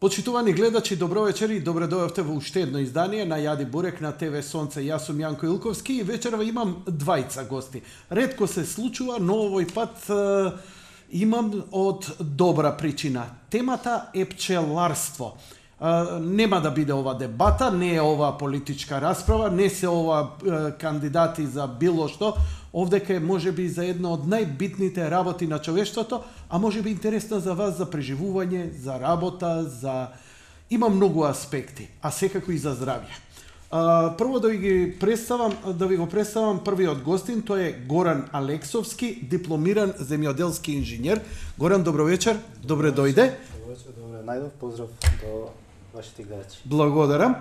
Почитувани гледачи, добро вечер и добре дојавте во уште едно издание на Јади Бурек на ТВ Сонце. Јас сум Јанко Илковски и вечерва имам двајца гости. Ретко се случува, но овој пат имам од добра причина. Темата е пчеларство. Нема да биде ова дебата, не е ова политичка расправа, не се ова кандидати за било што. Овдека е можеби за една од најбитните работи на човештвото, а можеби интересна за вас за преживување, за работа, за има многу аспекти, а секако и за здравје. Прво да ви го представам првиот гостин, тој е Горан Алексовски, дипломиран земјоделски инженер. Горан, добро вечер, добре дојде. Добро вечер, добре најдов, поздрав до вашите гледачи. Благодарам.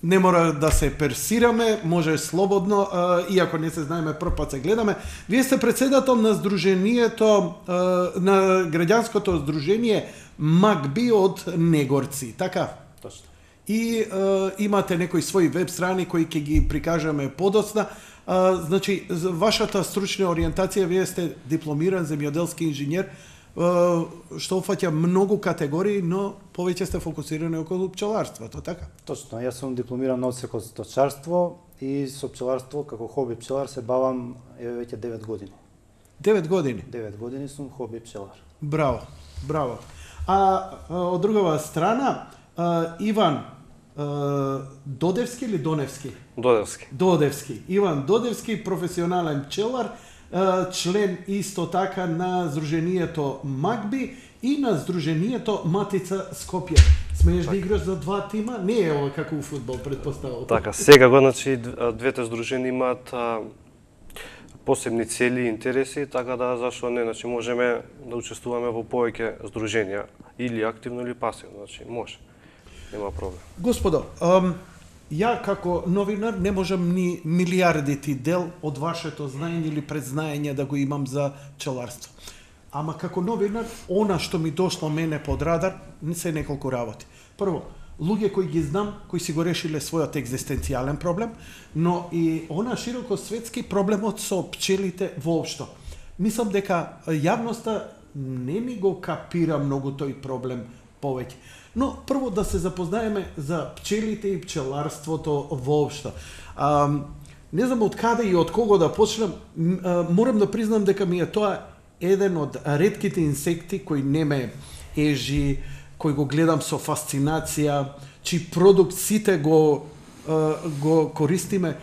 Не мора да се персираме, може слободно, иако не се знаеме, прв пат се гледаме. Вие сте председател на здруженијето, на граѓанското здружение МАГБИ од Негорци, така? Точно. И имате некои своји веб страни кои ќе ги прикажаме подоцна. Значи, вашата стручна ориентација, вие сте дипломиран земјоделски инженер, што офаќа многу категории, но повеќе сте фокусирани околу пчеларството, така? Точно, јас сум дипломиран на одсек од сточарство и со пчеларство како хоби пчелар се бавам веќе 9 години. 9 години? 9 години сум хоби пчелар. Браво, браво. Од другава страна, Иван Додевски или Доневски? Додевски. Додевски. Иван Додевски, професионален пчелар, член исто така на здруженијето МАГБИ и на здруженијето Матица Скопје. Смееш да играш за два тима? Не е ова како у фудбал, предпоставувам. Така, секако, значи, двете здружени имаат посебни цели и интереси, така да зашто не, значи можеме да учествуваме во повеќе здруженија, или активно или пасивно, значи може. Нема проблем. Господо, ја како новинар не можам ни милиардити дел од вашето знаење или предзнаење да го имам за пчеларство. Ама како новинар, она што ми дошло мене под радар, не се неколку работи. Прво, луѓе кои ги знам, кои си го решиле својот екзистенцијален проблем, но и она широко светски проблемот со пчелите воопшто. Мислам дека јавноста не ми го капира многу тој проблем повеќе. Но прво да се запознаеме за пчелите и пчеларството воопшто. Не знам од каде и од кого да почнем, морам да признам дека ми е тоа еден од ретките инсекти кои не ме ежи, кој го гледам со фасцинација, чиј продукт сите го користиме.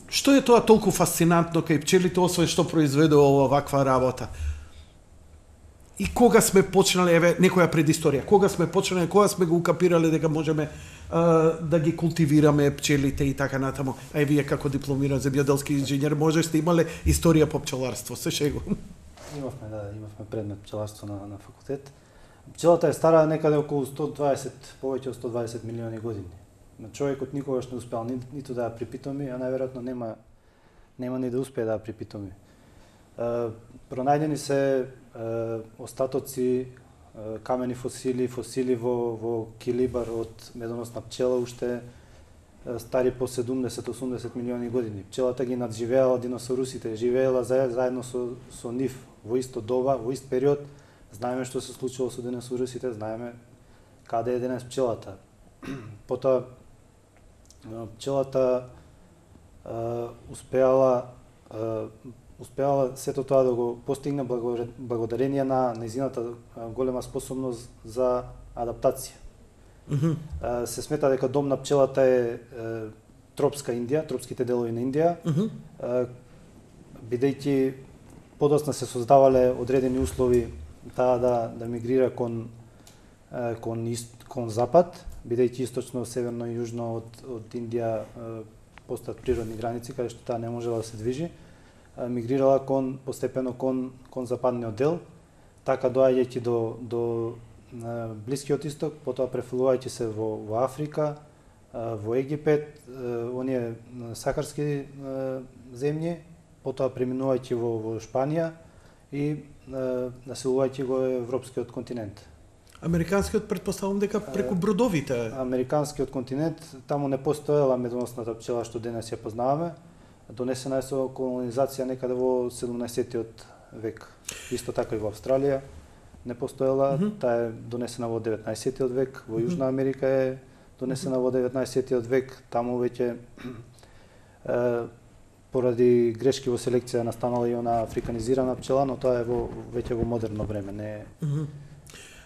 Што е тоа толку фасцинантно кај пчелите, освен што произведува оваква работа? И кога сме почнале, еве, некоја предисторија, кога сме почнале, кога сме го укапирале дека можеме да ги култивираме пчелите и така натаму. А вие како дипломиран земјоделски инженер, може сте имале историја по пчеларство, се шегувам. Имавме предмет пчеларство на факултет. Пчелата е стара некаде околу 120, повеќе од 120 милиони години. Човекот никогаш не успеал ниту да ја припитоми, а најверојатно нема ни да успее да ја припитоми. Пронајдени се остатоци, камени фосили во килибар од медоносна пчела, уште стари по 70-80 милиони години. Пчелата ги надживеала диносаурусите, живеела заедно со нив во исто доба, во ист период. Знаеме што се случило со диносаурусите, знаеме каде е денес пчелата. Потоа пчелата успеала сето тоа да го постигне благодарение на нејзината голема способност за адаптација. Се смета дека дом на пчелата е тропска Индија, тропските делови на Индија, бидејќи подоцна се создавале одредени услови таа да мигрира кон запад, бидејќи источно, северно и јужно од Индија постојат природни граници каде што таа не можела да се движи. Мигрирала постепено кон западниот дел, така доаѓајќи до Блискиот исток, потоа префрлувајќи се во Африка, во Египет, оние сахарски земји, потоа преминувајќи во Шпанија и населувајќи го европскиот континент. Американскиот претпоставувам дека преку бродовите. Американскиот континент, таму не постоела медоносната пчела што денес ја познаваме. Донесена е со колонизација некаде во 17-тиот век. Исто така и во Австралија. не постоела, таа е донесена во 19-тиот век, во Јужна Америка е донесена во 19-тиот век, таму веќе поради грешки во селекција настанала и она африканизирана пчела, но тоа е веќе во модерно време, не е.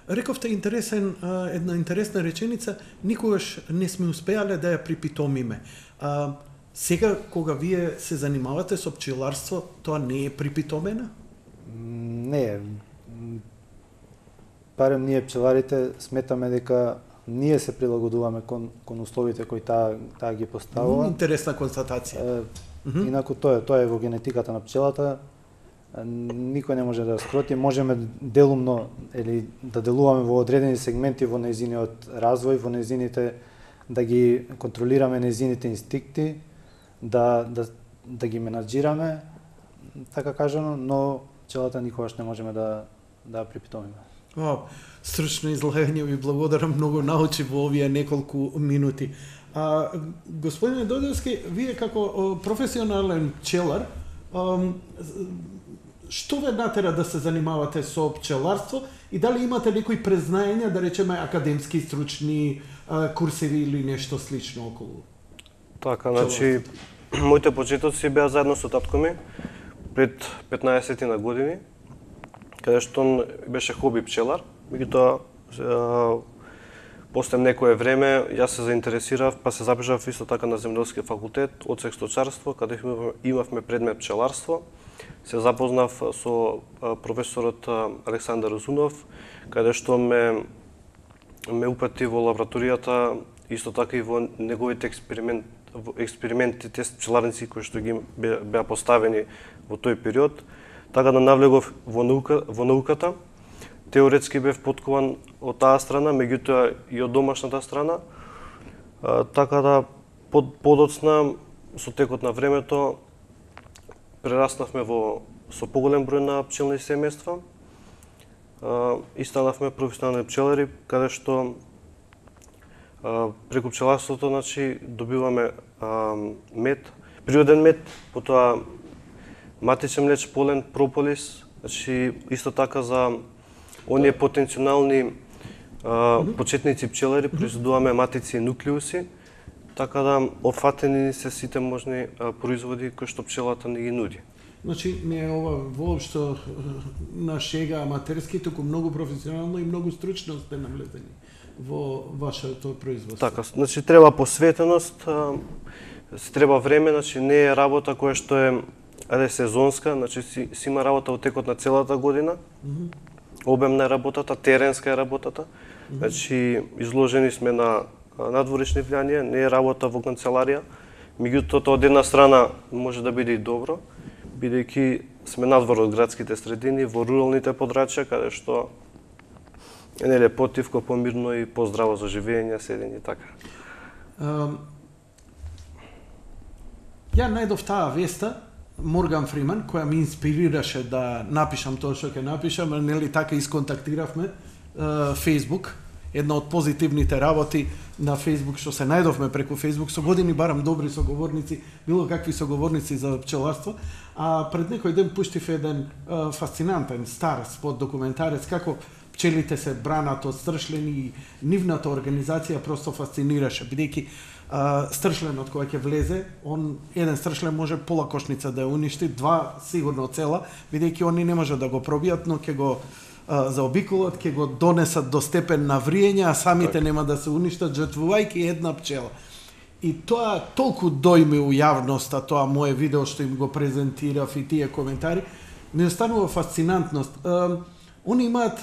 Рековте една интересна реченица, никогаш не сме успеале да ја припитомиме. Сега, кога вие се занимавате со пчеларство, тоа не е припитомена? Не, барем ние пчеларите сметаме дека ние се прилагодуваме кон условите кои таа ги поставува. Интересна констатација. Инаку тоа е во генетиката на пчелата. Никој не може да скроти, можеме делумно или да делуваме во одредени сегменти во нејзиниот развој, во нејзините да ги контролираме нејзините инстинкти, да ги менаџираме, така кажано, но пчелата никогаш не можеме да припитомиме. Стручно излагање, ви благодарам, многу научи во овие неколку минути. Господине Дојдовски, вие како професионален пчелар, што ве натера да се занимавате со пчеларство и дали имате некои презнаења, да речеме академски, стручни курсеви или нешто слично околу? Така, значи, моите почетоци беа заедно со татко ми пред 15 на години, каде што он беше хоби пчелар, меѓутоа после некое време јас се заинтересирав, па се запишав исто така на земјоделски факултет, одсек сточарство, каде имавме предмет пчеларство. Се запознав со професорот Александар Озунов, каде што ме упати во лабораторијата, исто така и во неговите експериментите с пчеларници кои што ги беа поставени во тој период. Така да навлегов во науката. Теоретски бев поткован од таа страна, меѓутоа и од домашната страна. Така да подоцна со текот на времето прераснавме со поголем број на пчелни семејства и станавме професионални пчелари, каде што преку пчеларството, значи, добиваме мед, природен мед, потоа матичен млеч, полен, прополис, значи исто така за оние потенцијални почетници пчелари произведуваме матици и нуклеуси, така да офатени се сите можни производи кои што пчелата ни ги нуди. Значи, не е ова воопшто на шега аматерски, туку многу професионално и многу стручно сте навлезени во вашето производство. Така, значи треба посветеност, треба време, значи не е работа која што е сезонска, значи си има работа во текот на целата година. Обемна е работата, теренска е работата. Значи изложени сме на надворешни влијанија, не е работа во канцеларија. Меѓутоа, од една страна може да биде и добро, бидејќи сме надвор од градските средини, во руралните подрачја, каде што е потивко, помирно и поздраво за живење, седење и така. Ја најдов таа веста, Морган Фриман, која ми инспирираше да напишам тоа што ќе напишам, нели така исконтактиравме Facebook, една од позитивните работи на Facebook што се најдовме преку Facebook, со години барам добри соговорници, било какви соговорници за пчеларство, а пред некој ден пуштив еден фасцинантен стар спот документарец како пчелите се бранат од стршлени и нивната организација просто фасцинираше, бидејќи стршленот кој ќе влезе, еден стршлен може пола кошница да ја уништи, два сигурно цела, бидејќи они не може да го пробијат, но ќе го заобиколат, ќе го донесат до степен на вриење, а самите нема да се уништат, жртвувајќи една пчела. И тоа толку дојми у јавноста, тоа мое видео што им го презентирав и тие коментари, ми останува фасцинантност. Они имаат,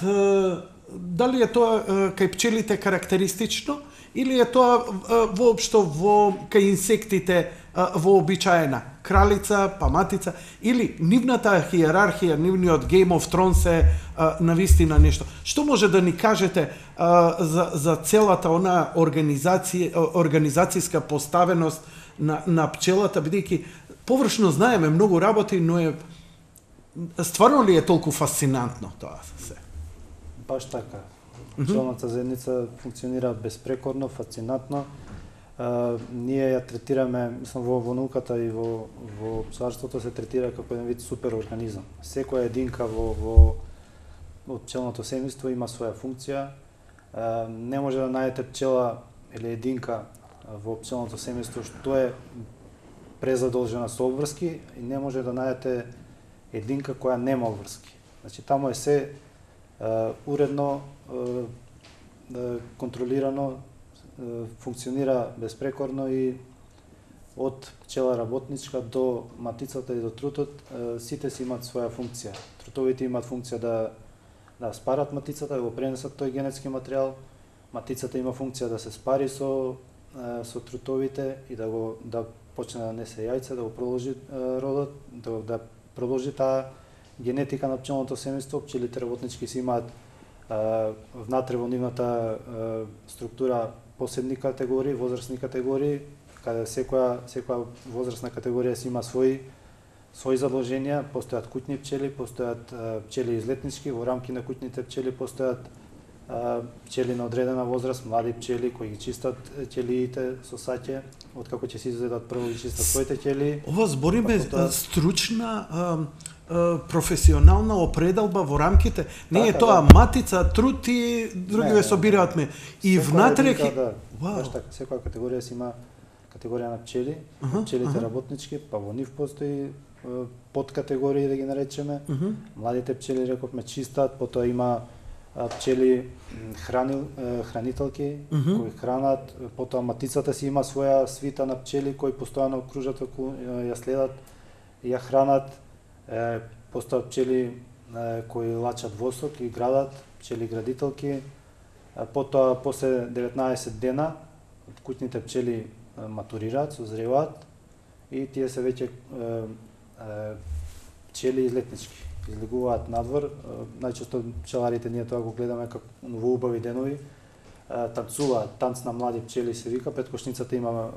дали е тоа кај пчелите карактеристично, или е тоа воопшто кај инсектите вообичаена? Кралица, па матица, или нивната хиерархија, нивниот Game of Thrones е навистина нешто. Што може да ни кажете за целата она организацијска поставеност на пчелата, бидејќи површно знаеме многу работи, но стварно ли е толку фасцинантно тоа се? Баш така. Пчелната заедница функционира безпрекорно, фасцинантно. Ние ја третираме, мислам, во науката и во пчеларството се третира како еден вид суперорганизам. Секоја единка од пчелното семејство има своја функција. Не може да најдете пчела или единка во пчелното семејство што е презадолжена со обврски и не може да најдете единка која нема обврски. Значи таму е се уредно, контролирано, функционира безпрекорно и од пчела работничка до матицата и до трутот, сите си имаат своја функција. Трутовите имаат функција да спарат матицата, да го пренесат тој генетски материјал. Матицата има функција да се спари со трутовите и да почне да несе јајца, да го продолжи родот, да продолжи таа генетика на пчелното семејство. Пчелите работнички си имаат внатре во нивната структура посебни категории, возрастни категории, каде секоја возрастна категорија си има своји задолженија. Постојат куќни пчели, постојат пчели излетнички, во рамки на куќните пчели постојат пчели на одредена возраст, млади пчели кои ги чистат ќелиите со саќе, откако ќе се изведат прво ги чистат своите ќелии. Ова збориме стручна професионална определба во рамките. Не е тоа матица, труд и другиве собираат ме. И внатре секоја категорија си има категорија на пчели, пчелите работнички, па во нив постои подкатегории, да ги наречеме. Младите пчели, рековме, чистат, потоа има пчели хранителки кои хранат, потоа матицата си има своја свита на пчели кои постојано кружат околу, ја следат, ја хранат. Постојат пчели кои лачат восок и градат, пчели градителки. Потоа после 19 дена куќните пчели матурираат, созреваат и тие се веќе пчели излетнички. Излегуваат надвор. Најчесто пчеларите ние тоа го гледаме како во убави денови. Танцуваат, танц на млади пчели се вика. Пред кошницата има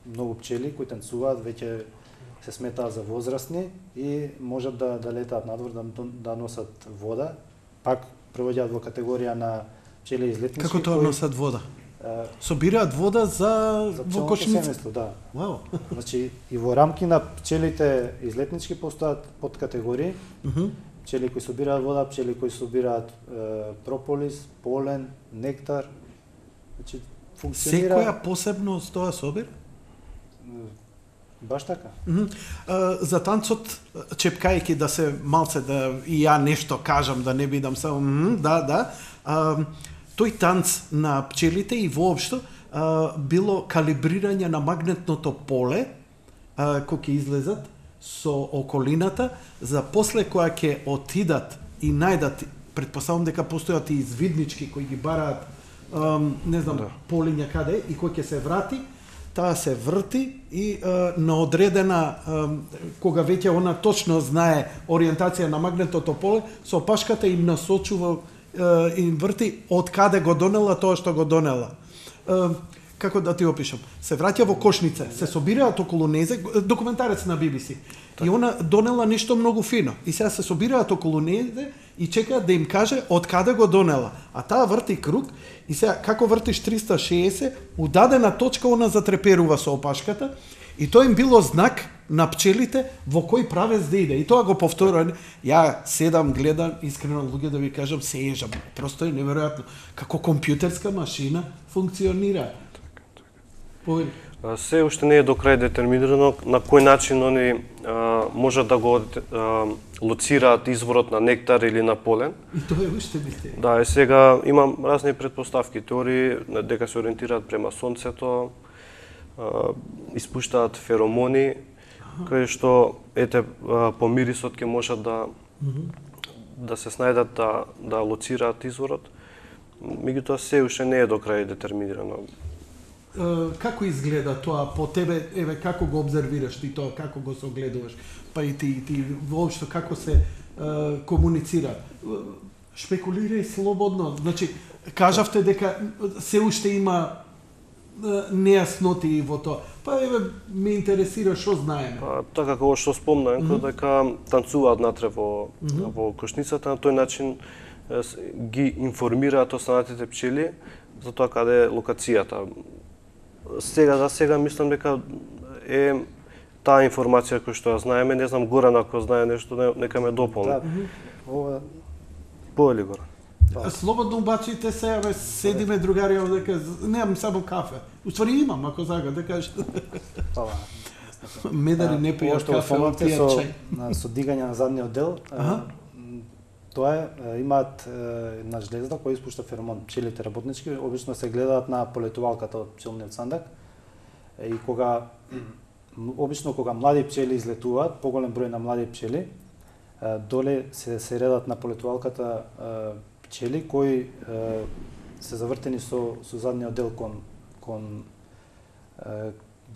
многу пчели кои танцуваат, веќе се сметаат за возрастни и можат да летаат надвор, да носат вода. Пак провоѓаат во категорија на пчели излетнички. Како тоа носат вода? Собираат вода за во кошница. Да. Вау. Значи и во рамки на пчелите излетнички постојат подкатегории. Пчели кои собираат вода, пчели кои собираат прополис, полен, нектар. Значи функционира. Секоја посебност тоа собира? Баш така. За танцот, чепкајќи да се малце да и ја нешто кажам, да не бидам само тој танц на пчелите и воопшто било калибрирање на магнетното поле кој ќе излезат со околината, за после која ќе отидат и најдат, предпоставам дека постојат и извиднички кои ги бараат не знам полиња каде и кој ќе се врати, таа се врти и на одредена, кога веќе она точно знае ориентација на магнетното поле, со опашката им насочува, им врти од каде го донела тоа што го донела. Како да ти опишам? Се враќа во кошница, се собираат околу незе, документарец на BBC. И она донела нешто многу фино. И сега се собираат околу незе и чекаат да им каже од каде го донела. А таа врти круг и сега како вртиш 360, у дадена точка она затреперува со опашката и тоа им било знак на пчелите во кој правец да иде. И тоа го повторува. Ја седам, гледам, искрено луѓе да ви кажам, се ежам. Просто е неверојатно како компјутерска машина функционира. Се уште не е до крај детерминирано на кој начин они можат да го лоцираат изворот на нектар или на полен. И тоа е уште мистерија. Да, и сега имам разни претпоставки, теории дека се ориентираат према сонцето, испуштаат феромони, кои што по мирисот ќе можат да се снајдат да лоцираат изворот. Меѓутоа се уште не е до крај детерминирано. Како изгледа тоа по тебе, како го обзервираш ти тоа, како го согледуваш, па и ти воопшто како се комуницира? Шпекулирај слободно, значи кажавте дека се уште има нејасноти во тоа. Па ме интересира што знаеме. Па така како што спомнав, дека танцуваат натре во кошницата, на тој начин ги информираат останатите пчели за тоа каде е локацијата. За сега мислам дека е таа информација која што ја знаеме, не знам Горан ако знае нешто, нека ме дополни. Ова поели гора. Слободно убачите се, абе, седиме другари овдека, немам само кафе. Уствари имам, ако сака да кажеш. Медари не пијат кафе, пијат чај. Со дигање на задниот дел, тоа е, имаат една жлезда која испушта феромон. Пчелите работнички обично се гледаат на полетувалката од пчелниот сандак. И обично кога млади пчели излетуваат, поголем број на млади пчели, доле се редат на полетувалката пчели кои се завртени со задниот дел кон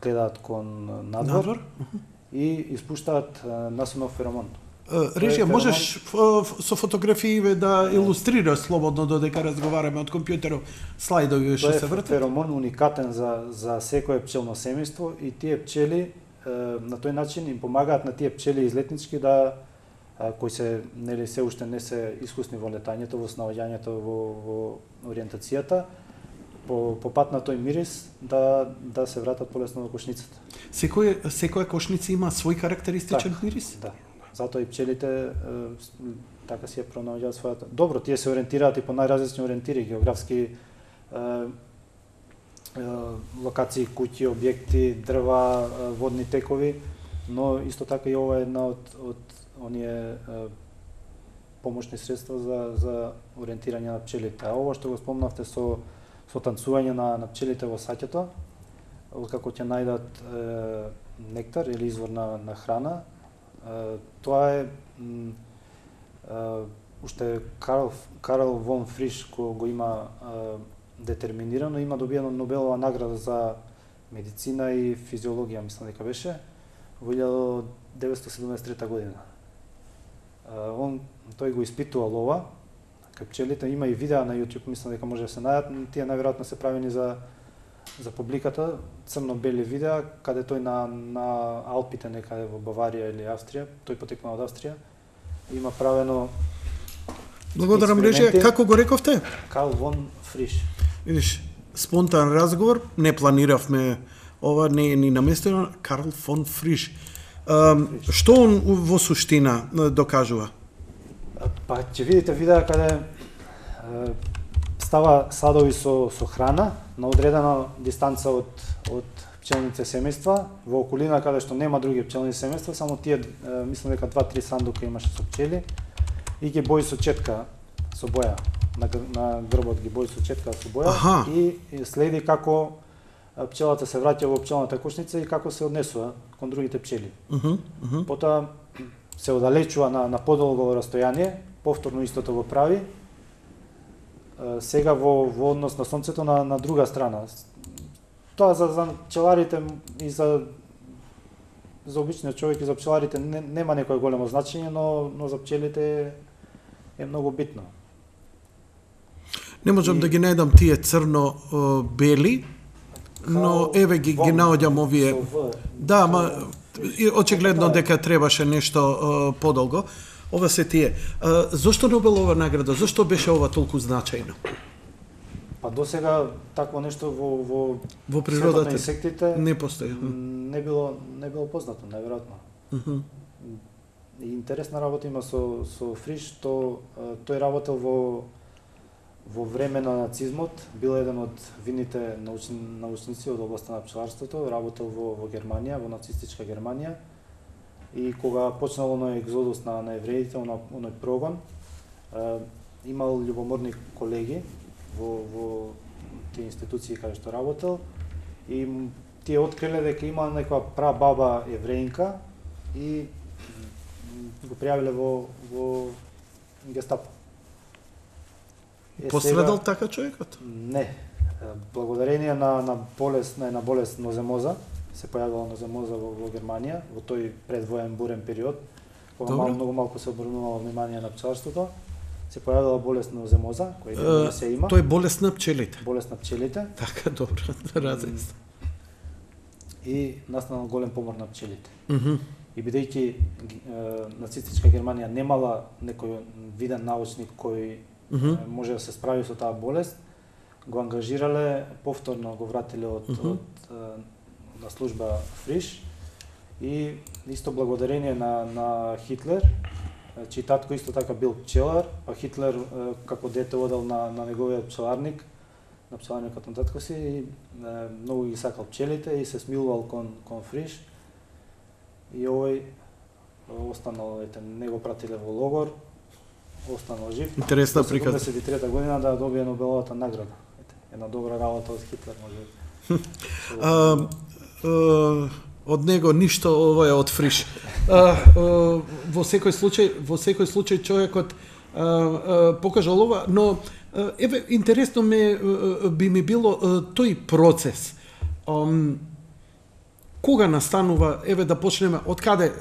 гледаат кон надвор и испуштаат насонов феромон. Режија, можеш со фотографии да илустрираш слободно додека разговараме од компјутеров, слайдови што се вртат? Тоа е феромон уникатен за секое пчелно семејство и тие пчели на тој начин им помагаат на тие пчели излетнички кои се нели се уште не се искусни во летањето, во снаоѓањето, во ориентацијата, по пат на тој мирис да се вратат полесно во кошницата. Секоја кошница има свој карактеристичен мирис? Да. Затоа и пчелите така си ја пронаоѓаат својата. Добро, тие се ориентираат и по најразлични ориентири, географски локации, куќи, објекти, дрва, водни текови, но исто така и ова е една од оние помошни средства за ориентирање на пчелите. А ова што го спомнавте со танцување на пчелите во саќето, откако ќе најдат нектар или извор на храна, тоа е уште Карл фон Фриш кој го има детерминирано, има добиено Нобелова награда за медицина и физиологија, мислам дека беше, во 1973 година. Тој го испитувал ова, кај пчелите, има и видеа на YouTube, мислам дека може да се најдат, тие најверојатно се правени за публиката, црно-бели видеа, каде тој на Алпите некаде во Баварија или Австрија, тој потекнал од Австрија, има правено. Благодарам, Режија. Како го рековте? Карл фон Фриш. Видиш, спонтан разговор, не планиравме ова, не е ни наместено. Карл фон Фриш. Што он во суштина докажува? Па ќе видите видеа каде става садови со храна на одредена дистанца од пчелните семејства, во околина каде што нема други пчелни семејства, само тие, мислам дека 2-3 сандука имаше со пчели и ги бои со четка, со боја, на грбот ги бои со четка со боја и следи како пчелата се враќа во пчелната кошница и како се однесува кон другите пчели. Потоа се оддалечува на подолго растојание, повторно истото го прави, сега во однос на сонцето на друга страна. Тоа за пчеларите и за обичниот човек и за пчеларите нема некое големо значење, но за пчелите е многу битно. Не можам да ги најдам тие црно-бели, но еве ги наоѓам овие. Да, ма очигледно дека требаше нешто подолго. Ова се тие. Зошто Нобелова награда? Зошто беше ова толку значајно? Па досега такво нешто во природата на инсектите не постои. Не било познато, најверојатно. И интересна работа има со Фриш, тој работел во време на нацизмот, бил еден од видните научници од областа на пчеларството, работел во Германија, во нацистичка Германија. И кога почнал оној екзодус на евреите, оној прогон, имал љубоморни колеги во тие институции каде што работел и тие откриле дека има некоја прабаба евреинка и го пријавиле во Гестапо. Пострадал така човекот? Не. Благодарение на една болест ноземоза, се појавила ноземоза во Германија, во тој предвоен бурен период, кога многу малку се обрнувало внимание на пчеларството, се појавила болест ноземоза, која се има. Тоа е болест на пчелите. Болест на пчелите. Така, добро, различно. И настанал голем помор на пчелите. И бидејќи нацистичка Германија немала некој виден научник кој може да се справи со таа болест, го ангажирале, повторно го вратиле на служба Фриш и исто благодарение на Хитлер Значи татко исто така бил пчелар, а Хитлер како дете одел на неговиот пчеларник, на пчеларникот на татко си и многу ги сакал пчелите и се смилувал кон Фриш. И овој останал, не го пратиле во логор, останал жив. Интересна приказна. 1973 година да добие Нобеловата награда. Една добра работа од Хитлер може. Од него ништо, ово е од Фриш. Во секој случај човекот покажал ова, но еве интересно би ми било тој процес. Кога настанува, еве да почнеме, од каде?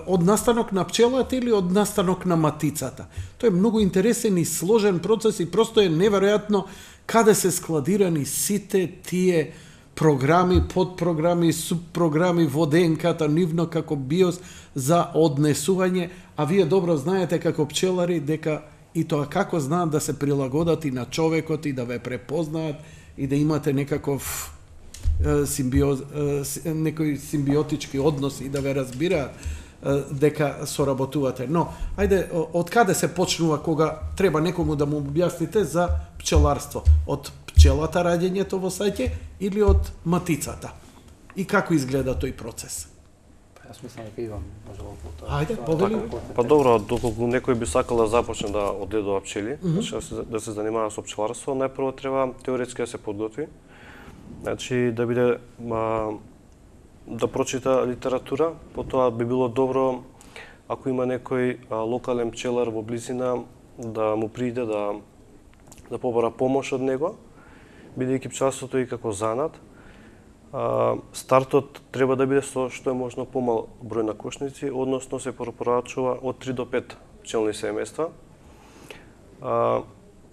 Од настанок на пчелата или од настанок на матицата? Тоа е многу интересен и сложен процес и просто е неверојатно каде се складирани сите тие програми, подпрограми, субпрограми во ДНК-та нивно како биос за однесување, а вие добро знаете како пчелари дека и тоа како знаат да се прилагодат и на човекот и да ве препознаат и да имате некаков некои симбиотички односи и да ве разбираат дека соработувате. Но, ајде, од каде се почнува кога треба некому да му објасните за пчеларство? Од пчелата раѓењето во саќе или од матицата? И како изгледа тој процес? Јас мислам дека Иван може да потоа. Ајде, повели. Па добро, доколку некој би сакал да започне да одгледува пчели, да се занимава со пчеларство, најпрво треба теоретски да се подготви. Значи да биде да прочита литература, потоа би било добро ако има некој локален пчелар во близина да му пријде да побара помош од него, бидејќи пчеларството и како занат. Стартот треба да биде со што е можно помал број на кошници, односно се препорачува од 3 до 5 пчелни семејства.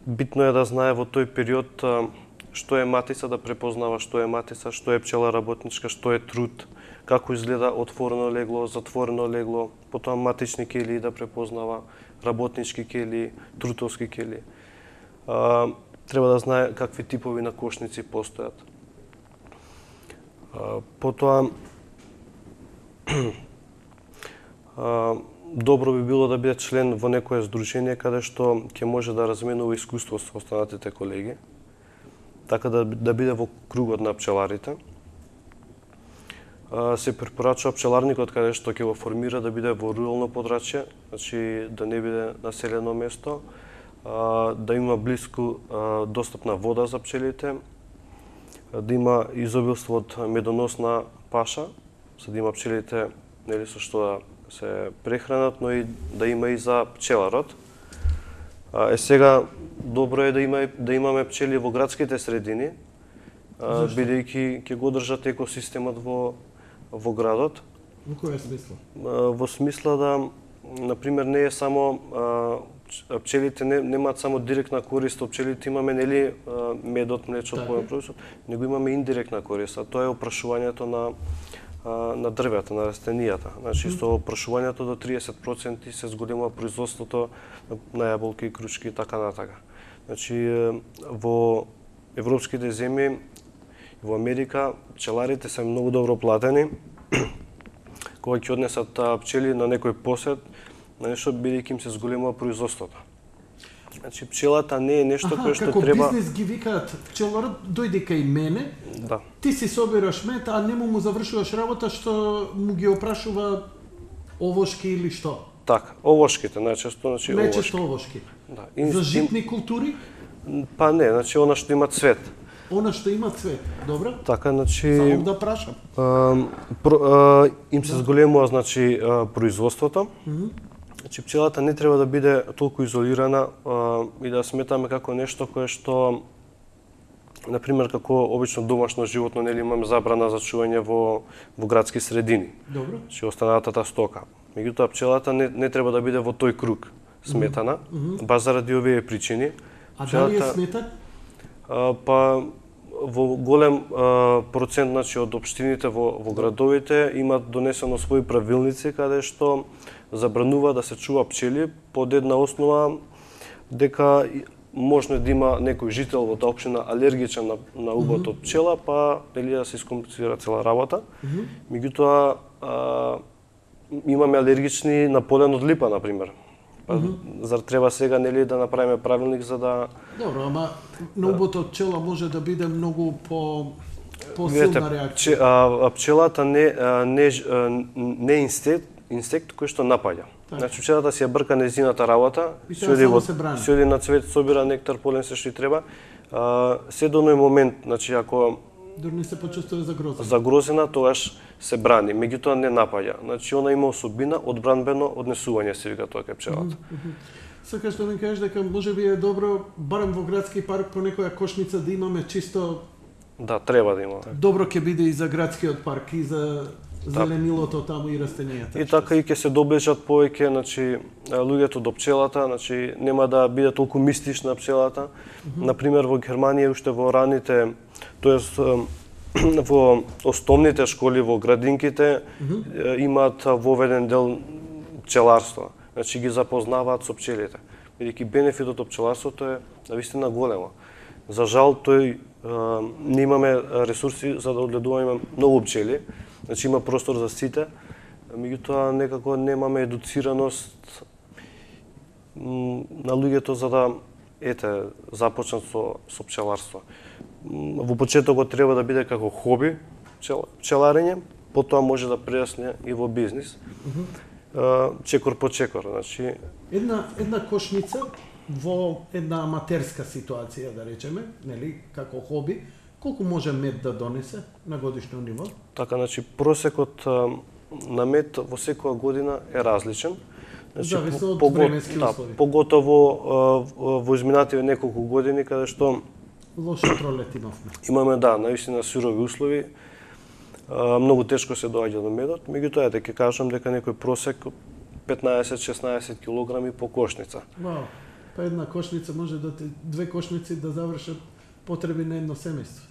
Битно е да знае во тој период што е матица, да препознава што е матица, што е пчела работничка, што е труд, како изгледа отворено легло, затворено легло, потоа матични келии да препознава, работнички келии, трутовски келии. Треба да знае какви типови на кошници постојат. Потоа добро би било да биде член во некое здружение каде што ќе може да разменува искуство со останатите колеги, така да биде во кругот на пчеларите. Се препорачува пчеларникот каде што ќе го формира да биде во рурално подрачје, значи да не биде населено место, да има блиску достапна вода за пчелите, да има изобилство од медоносна паша, за да има пчелите нели со што да се прехранат, но и да има и за пчеларот. Сега добро е да имаме пчели во градските средини, бидејќи ќе го држат екосистемот во градот. Во која смисла? Во смисла да, например, не е само пчелите немаат само директна корист од пчелите, имаме нели медот, млечот, производ, него имаме индиректна корист, а тоа е опрашувањето на дрвета, на растенијата. Значи со опрашувањето до 30% се зголемува производството на јаболки, крушки и така натака. Значи во европските земји, во Америка, пчеларите се многу добро платени. Кога ќе однесат пчели на некој посет, на нешто бидејќи им се зголемува производството. Значи пчелата не е нешто кое што треба. Како бизнес ги викаат пчеларот, дојди кај мене. Да. Ти си собираш мед, а нему му завршуваш работа што му ги опрашува овошки или што? Така, овошките најчесто, значи овошки. Најчесто овошки. Да. За житни култури? Па не, значи она што има цвет. Она што има цвет, добро? Така, значи само да прашам. Им се зголемува значи производството. Значи пчелата не треба да биде толку изолирана и да сметаме како нешто кое што, например, како обично домашно животно, нели имаме забрана за чување во градски средини. Добро. Значи останатата стока. Меѓутоа пчелата не треба да биде во тој круг сметана, баш заради овие причини. А дали е сметан? Па во голем процент, значи, од општините во градовите имаат донесено своји правилници каде што забранува да се чува пчели под една основа дека можно да има некој жител во таа општина алергичен на убот од пчела, па нели да се искомплицира цела работа. Меѓутоа имаме алергични на полен од липа, например. Па зар треба сега нели да направиме правилник за да Добро, ама наубото од пчела може да биде многу по-силна реакција. Пчелата не инсект кој што напаѓа. Значи пчелата си ја брка незината работа, се оди на цвет, собира нектар, полен, се што и треба. Се до оној момент, значи ако дури не се почувствува загрозена, тогаш се брани, меѓутоа не напаѓа. Значи она има особина одбранбено однесување, се вика тоа кај пчелата. Сакаш да ми кажеш дека можеби е добро барем во градски парк по некоја кошница да имаме чисто. Да, треба да има. Добро ќе биде и за градскиот парк и за зеленилото таму и растенијата. И така и ќе се доближат повеќе, значи луѓето до пчелата, значи нема да биде толку мистична пчелата. Например во Германија уште во раните, тоест во основните школи во градинките имаат воведен дел пчеларство. Значи ги запознаваат со пчелите. Бидејќи бенефитот од пчеларството е навистина големо. За жал не имаме ресурси за да одгледуваме многу пчели. Значи има простор за сите, меѓутоа некако немаме едуцираност на луѓето за да започнат со пчеларство. Во почетокот треба да биде како хоби пчеларење, потоа може да прерасне и во бизнис. Чекор по чекор, значи една кошница во една аматерска ситуација, да речеме, нели, како хоби, колку може мед да донесе на годишно ниво? Така, значи просекот на мед во секоја година е различен. Значи, зависи од временски услови. Поготово во изминативе неколку години каде што лошо пролет имавме. Имаме наистина сурови услови. Многу тешко се доаѓа до медот, меѓутоа ќе кажам дека некој просек 15-16 килограми по кошница. Вау. Па една кошница може две кошници да завршат потреби на едно семејство.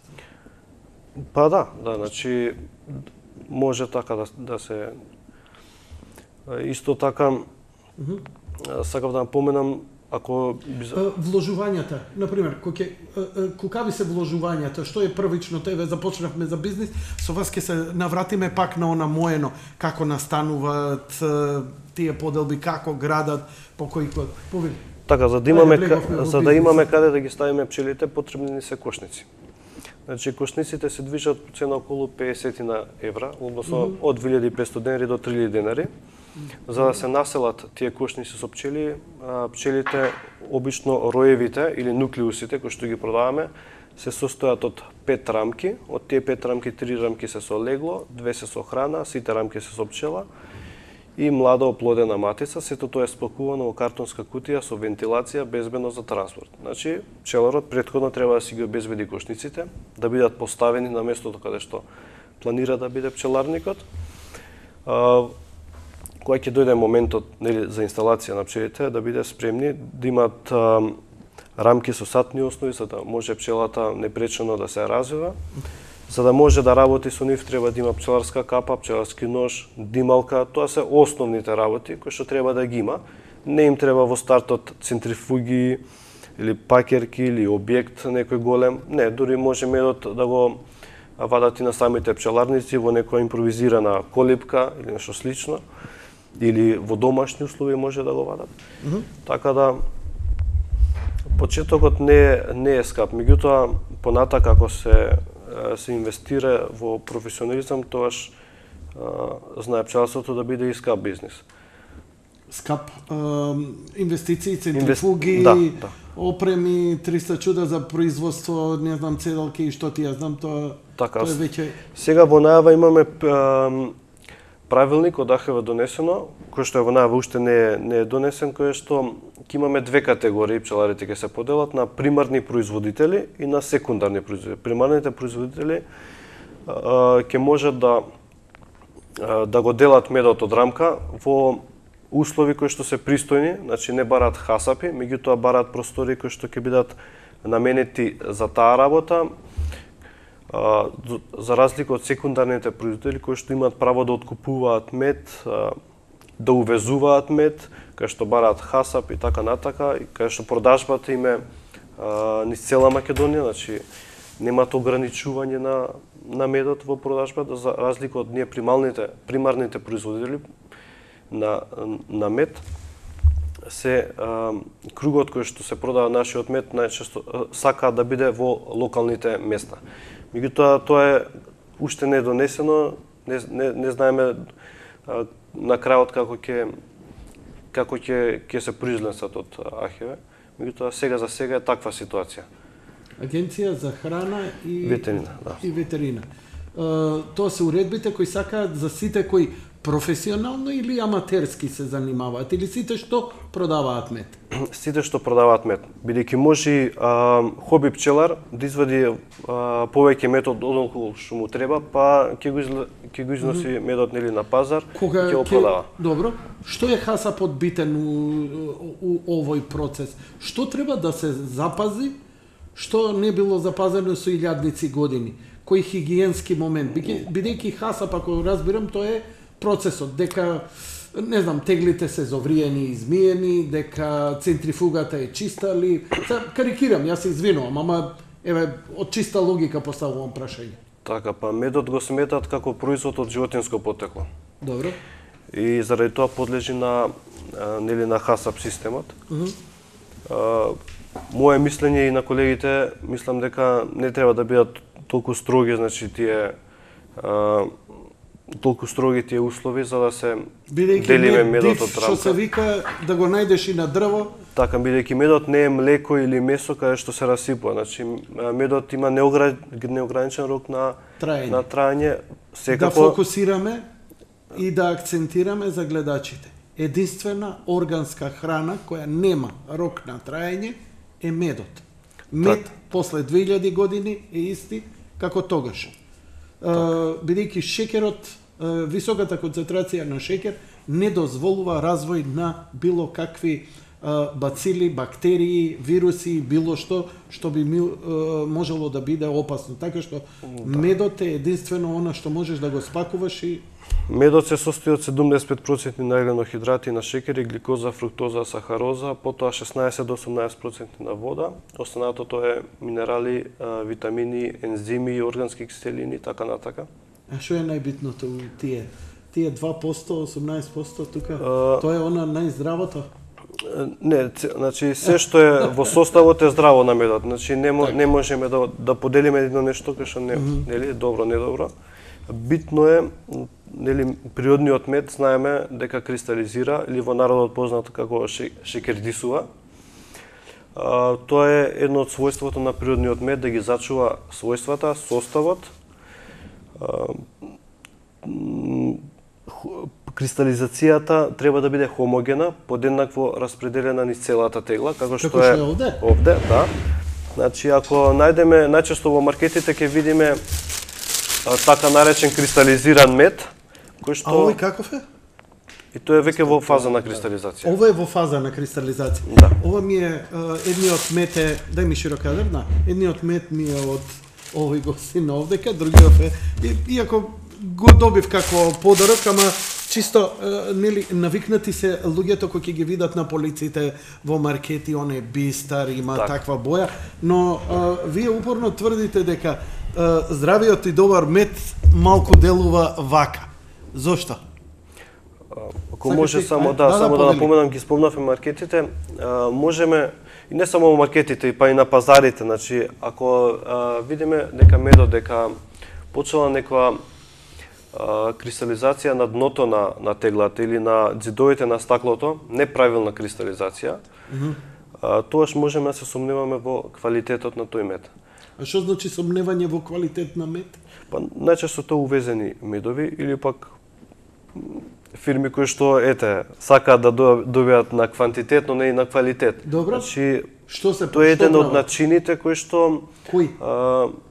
Па да, значи може така да се исто така сакав да напоменам ако вложувањата, например, кокави се вложувањата, што е првично, еве започнавме за бизнис, со вас ќе се навратиме пак на она моено, како настануваат тие поделби, како градат, по кој повели. Така, за да имаме каде да ги ставиме пчелите, потребни ни се кошници. Значи кошниците се движат по цена околу 50 евра, односно од 2500 денари до 3000 денари. За да се населат тие кошници со пчели, пчелите обично роевите или нуклеусите кои што ги продаваме се состојат од 5 рамки. Од тие 5 рамки 3 рамки се со легло, 2 се со храна, сите рамки се со пчела и млада оплодена матица. Сето тоа е спакувано во картонска кутија со вентилација безбедно за транспорт. Значи пчеларот претходно треба да си ги обезбеди кошниците, да бидат поставени на местото каде што планира да биде пчеларникот. Кога ќе дојде моментот за инсталација на пчелите, да биде спремни, да имат рамки со сатни основи, за да може пчелата непречено да се развива. За да може да работи со нив, треба да има пчеларска капа, пчеларски нож, дималка. Тоа се основните работи кои што треба да ги има. Не им треба во стартот центрифуги или пакерки или објект некој голем. Не, дури може медот да го вадат и на самите пчеларници во некоја импровизирана колипка или нешто слично. Или во домашни услови може да го вадат. Така да почетокот не е скап, меѓутоа понатака ако се инвестира во професионализам, тогаш знае пчеларството да биде и скап бизнис. Скап инвестиции, центрифуги, опреми, 300 чуда за производство, не знам, цедалки и што ти ја знам, тоа е веќе. Сега во најава имаме правилник од АХВ донесено, кој што во најава уште не е донесен, кој што ќе имаме две категории пчеларите ќе се поделат на примарни производители и на секундарни производители. Примарните производители ќе можат да го делат медот од рамка во услови кои што се пристојни, значи не бараат хасапи, меѓутоа бараат простори кои што ќе бидат наменети за таа работа, за разлика од секундарните производители кои што имаат право да откупуваат мед, да увезуваат мед, кај што бараат хасап и така натака, и кај што продажбата им е низ цела Македонија, значи немаат ограничување на медот во продажбата, за разлика од ние примарните производители на мед. се кругот кој што се продава нашиот мед најчесто сака да биде во локалните места. Меѓутоа тоа е уште не донесено, не знаеме на крајот како ќе се произнесат од АХВ. Меѓутоа сега за сега е таква ситуација. Агенција за храна и ветерина, да. И ветерина. Тоа се уредбите кои сакаат за сите кои професионално или аматерски се занимаваат, или сите што продаваат мед? Сите што продаваат мед. Бидејќи може хоби пчелар да извади повеќе мед од онолку што му треба, па ќе го износи медот нели на пазар и ќе го продава. Добро. Што е хасапот битен у овој процес? Што треба да се запази, што не било запазено со илјадници години? Кој хигиенски момент? Бидејќи хасап, ако разбирам, тоа е процесот, дека, не знам, теглите се зовриени и измиени, дека центрифугата е чиста ли... Карикирам, јас се извинувам, ама, еве, од чиста логика поставувам прашање. Така, па медот го сметат како производ од животинско потекло. Добро. И заради тоа подлежи на хасап системот. Моje мислење и на колегите, мислам дека не треба да бидат толку строги, значи толку строги тие услови за да се делиме медот од рамка. Што се вика да го најдеш и на дрво. Така, бидејќи медот не е млеко или месо каде што се расипува. Значи медот има неограничен рок на траење. Да фокусираме и да акцентираме за гледачите. Единствена органска храна која нема рок на траење е медот. Мед после 2000 години е исти како тогаш. Бидејќи шеќерот, високата концентрација на шеќер не дозволува развој на било какви бацили, бактерии, вируси, било што би можело да биде опасно. Така што медот е единствено она што можеш да го спакуваш и... Медот се состои од 75% на еленохидрати на шеќер и гликоза, фруктоза, сахароза, потоа 16 до 18% на вода. Останатото е минерали, витамини, ензими, органски киселини, така натака. А што е најбитното тие 2%, 18% тука? Тоа е она најздравото? Не, значи се што е во составот е здраво на медот. Значи не можеме да поделиме едно нешто кај што нели добро, недобро. Битно е, нели, природниот мед знаеме дека кристализира или во народот познато како шекердисува. Тоа е едно од својството на природниот мед да ги зачува својствата, составот. Кристализацијата треба да биде хомогена, подеднакво распределена низ целата тегла, како што е овде, да. Значи ако најдеме најчесто во маркетите ќе видиме така наречен кристализиран мед, кој што... А овој каков е? И тоа е веќе во фаза на кристализација. Ова е во фаза на кристализација. Да. Ова ми е едниот мед е, дај ми широкадер, да. Едниот мед ми е од овој гостин овдека, другиот е иако го добив како подарок, ама чисто нели навикнати се луѓето кои ќе ги видат на полиците во маркети, он е бистар, има таква боја, но вие упорно тврдите дека здравиот и добар мед малку делува вака. Зошто? Ако може само да напоменам, ги спомнавме маркетите, можеме и не само во маркетите, па и на пазарите, значи ако видиме дека медот дека почела некоја кристализација на дното на теглата или на ѕидовите на стаклото, неправилна кристализација, тоаш можеме да се сомневаме во квалитетот на тој мед. А што значи сомневање во квалитет на мед? Па најчесто тоа увезени медови или пак фирми кои што сакаат да добијат на квантитет, но не и на квалитет. Добро. Значи, што се тоа е еден од начините кои што Кој?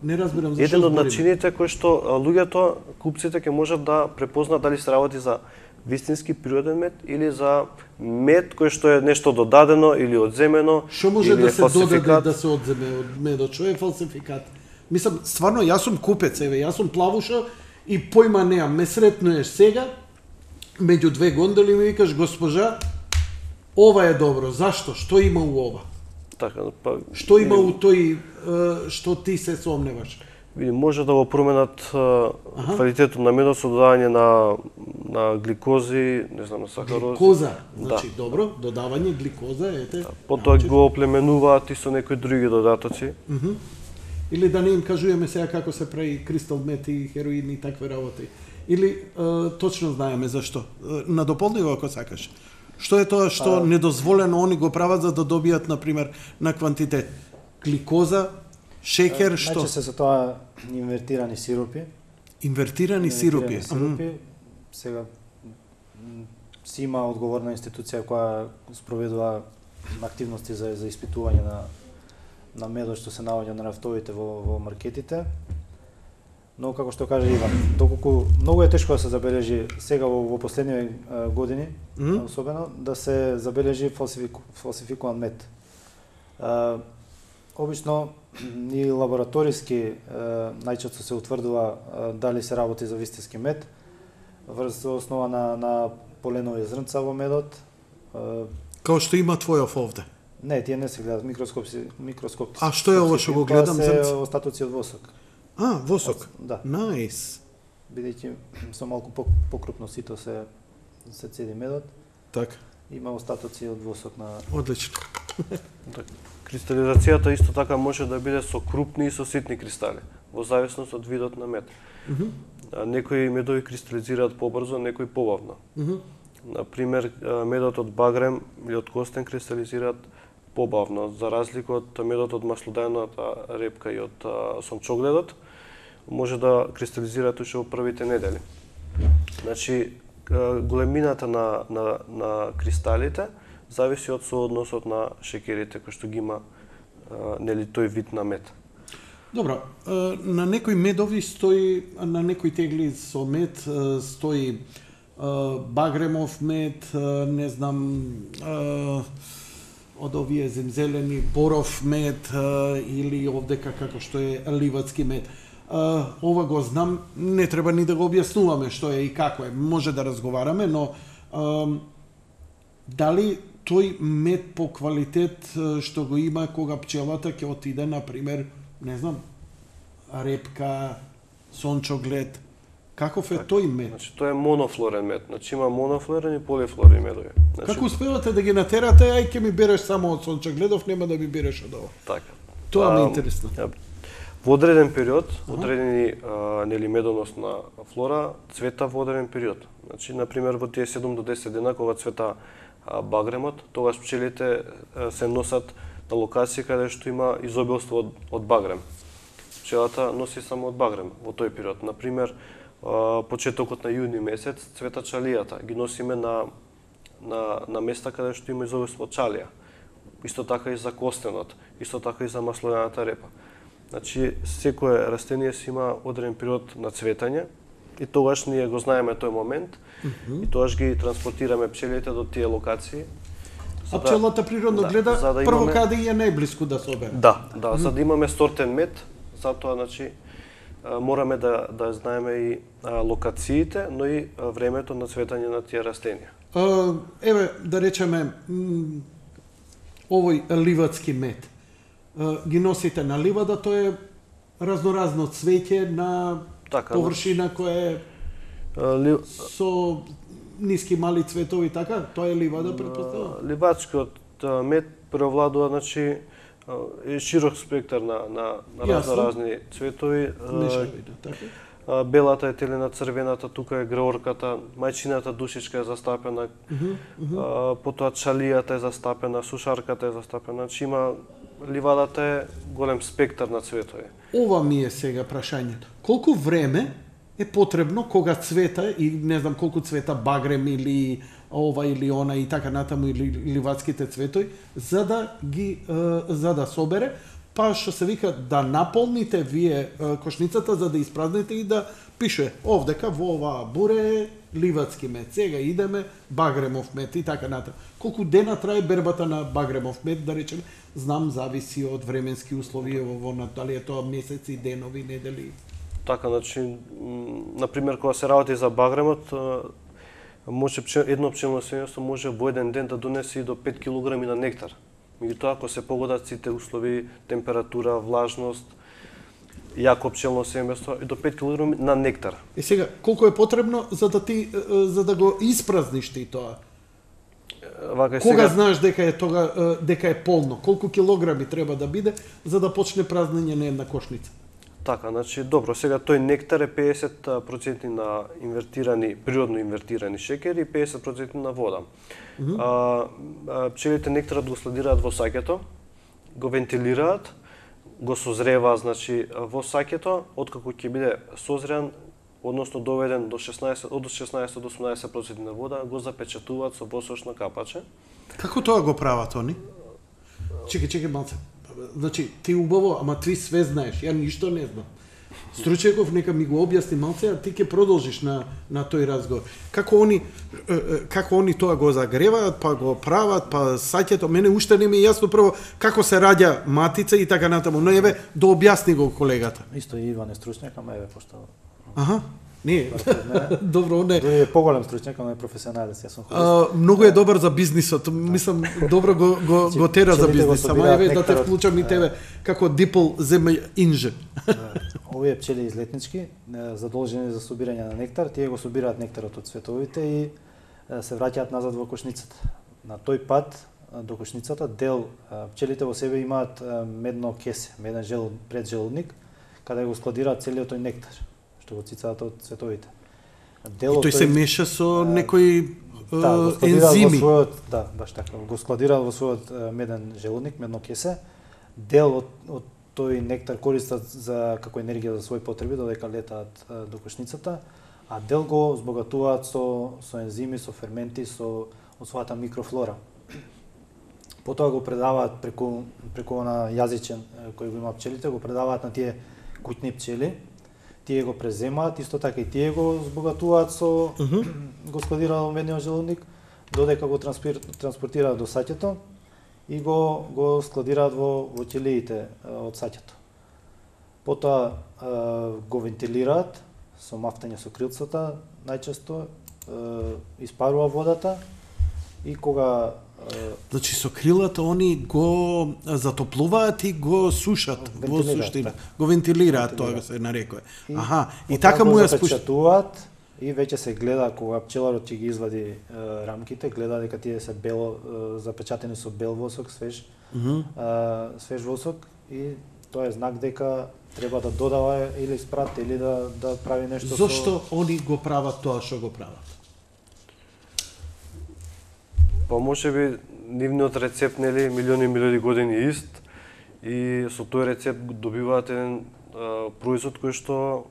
Не разбирам зашто. Еден од начините кои што луѓето, купците ќе можат да препознаат дали се работи за вистински природен мед или за мед кој што е нешто додадено или одземено. Што може да се додаде да се одземе од медот? Што е фалсификат? Мислам, стварно, јас сум купец, јас сум плавуша и појма неам. Ме сретнуеш сега, меѓу две гондоли ми викаш, госпожа, ова е добро. Зашто? Што има у ова? Така, па... Што има у тој што ти се сомневаш? Види, може да го променат квалитетот на медот со додавање на гликози, не знам, на сахарози. Гликоза, значи добро, додавање гликоза, ете. Потоа го оплеменуваат и со некои други додатоци. Или да не им кажуваме сега како се прави кристал мет и хероин и такви работи. Или точно знаеме зашто. Надополниво ако сакаш. Што е тоа што недозволено они го прават за да добијат, например, на квантитет? Гликоза, шекер, што? Најчесто се тоа инвертирани сиропи. Инвертирани сиропи. Сега си има одговорна институција која спроведува активности за испитување на медот што се наоѓа на рафтовите во маркетите. Но како што каже Иван, доколку многу е тешко да се забележи сега во последни години, особено да се забележи фалсификуван мед. Обично и лабораториски најчесто се утврдува дали се работи за вистински мед врз основа на поленови зрнца во медот. Као што има твојов овде. Не, тие не се гледат микроскоп. А што е ова што го гледам? Тоа се остатоци од восок. Восок. Да. Најс. Бидејќи со малку покрупно сито се цеди медот. Така. Има остатоци од восок на... Одлично. Кристализацијата исто така може да биде со крупни и со ситни кристали, во зависност од видот на мед. Некои медови кристализираат побрзо, некои побавно. Например, медот од багрем или од костен кристализираат побавно, за разлика од медот од маслодajната репка и од сончогледот, може да кристализираат уште во првите недели. Значи, големината на кристалите зависи од соодносот на шекерите кои што ги има нели тој вид на мед. Добро, на некои медови стои, на некои тегли со мед стои багремов мед, не знам, од овие земзелени боров мед или овдека како што е ливадски мед. Ова го знам, не треба ни да го објаснуваме што е и како е. Може да разговараме, но дали тој мед по квалитет што го има кога пчелата ќе отиде, например, не знам, репка, сончоглед, каков е тој мед? Значи, тоа е монофлорен мед. Значи, има монофлорен и полифлорен медови. Значи, како успевате да ги натерате, ај ќе ми береш само од сончогледов, нема да ми береш од ова? Така. Тоа ми е интересно. Во одреден период, одредени нели медоносна флора цвета во одреден период. Значи, например, во тие 7 до 10 дена кога цвета багремот, тогаш пчелите се носат на локација каде што има изобилство од багрем. Пчелата носи само од багрем во тој период. Например, почетокот на јуни месец цвета чалијата, ги носиме на места каде што има изобилство од чалија. Исто така и за костенот, исто така и за маслодajната репа. Значи, секое растение си има одреден период на цветање и тогаш ние го знаеме тој момент и тогаш ги транспортираме пчелите до тие локации. А пчелата природно гледа прво каде е најблиску да се обере. Да, за да имаме сортен мед, затоа значи мораме да знаеме и локациите, но и времето на цветање на тие растенија. Еве, да речеме, овој ливадски мед. Ги носите на ливада, тоа е разноразно цвеќе на површина која е со ниски мали цветови, така? Тоа е ливада, претпоставувам? Ливадскиот мед превладува, значи, широк спектар на разни цветови. Белата е телена, црвената, тука е греорката, мајчината душичка е застапена, потоа чалијата е застапена, сушарката е застапена, значи има ливадата е голем спектар на цветови. Ова ми е сега прашањето. Колку време е потребно кога цвета и не знам колку цвета багрем или ова или она и така натаму или ливадските цветови за да собере, па што се вика да наполните вие кошницата за да испразните и да пише овдека во оваа буре ливадски мед. Сега идеме багремов мед и така натаму. Колку дена трае бербата на багремов мед, да речеме, знам зависи од временски услови во дали е тоа месеци, денови, недели. Така, значи, например, кога се работи за багремот, може едно пчелно семејство може во еден ден да донесе и до 5 килограми на нектар. Меѓутоа, ако се погодат сите услови, температура, влажност, јако пчелно семејство и до 5 кг на нектар. И сега, колку е потребно за да го испразниш ти тоа? Вака Кога знаеш дека е полно? Колку килограми треба да биде за да почне празнење на една кошница? Така, значи, добро, сега тој нектар е 50% на природно инвертирани шеќери и 50% на вода. Пчелите нектарот го складираат во саќето, го вентилираат, го созреваат, значи, во саќето, откако ќе биде созреан, односно доведен од 16 до 18% на вода, го запечатуваат со восочно капаче. Како тоа го прават они? Чекај малце. Значи, ти убаво, ама ти све знаеш, ја ништо не знам. Стручеков нека ми го објасни малце, а ти ќе продолжиш на тој разговор. Како они тоа го загреваат, па го прават, па саќето, мене уште не ми е јасно прво како се раѓа матица и така натаму, но еве да објасни го колегата. Исто и Иван е стручњак, ама еве пошто Аха. Не, добро, не. Тој е поголем стручњак, ама е професионалец, јас сум хорист. Многу е добар за бизнисот, мислам, добро го тера за бизнис, ама еве да те вклучам и тебе како дипл земја инжен. Овие пчели излетнички, задолжени за собирање на нектар, тие го собираат нектарот од цветовите и се враќаат назад во кошницата. На тој пат до кошницата дел пчелите во себе имаат медно кесе, меден преджелудник, каде го складираат целиот тој нектар што го цицаат од цветовите. И тој се меша со некои ензими. Баш така. Го складираат во својот меден желудник, медно кесе. Дел од тој нектар користат како енергија за своји потреби, додека летаат до кошницата, а дел го збогатуваат со ензими, со ферменти, од својата микрофлора. Потоа го предаваат преку на јазичен кој го има пчелите, го предаваат на тие куќни пчели. Тие го преземаат, исто така и тие го збогатуваат го складираат во медниот желудник, додека го транспортираат до саќето и го складираат во ќелиите од саќето. Потоа го вентилираат со мафтање со крилцата, најчесто испарува водата и кога Значи со крилата они го затоплуваат и го сушат во суштина. Го вентилираат, тоа се нарекува. Аха, и така му ја запечатуваат и веќе се гледа кога пчеларот ќе ги извади рамките, гледа дека тие се бело запечатени со бел восок, свеж восок и тоа е знак дека треба да додава или спрат или да прави нешто. Зошто они го прават тоа што го прават? Па можеби нивниот рецепт нели милиони години ист и со тој рецепт добиваат еден производ кој што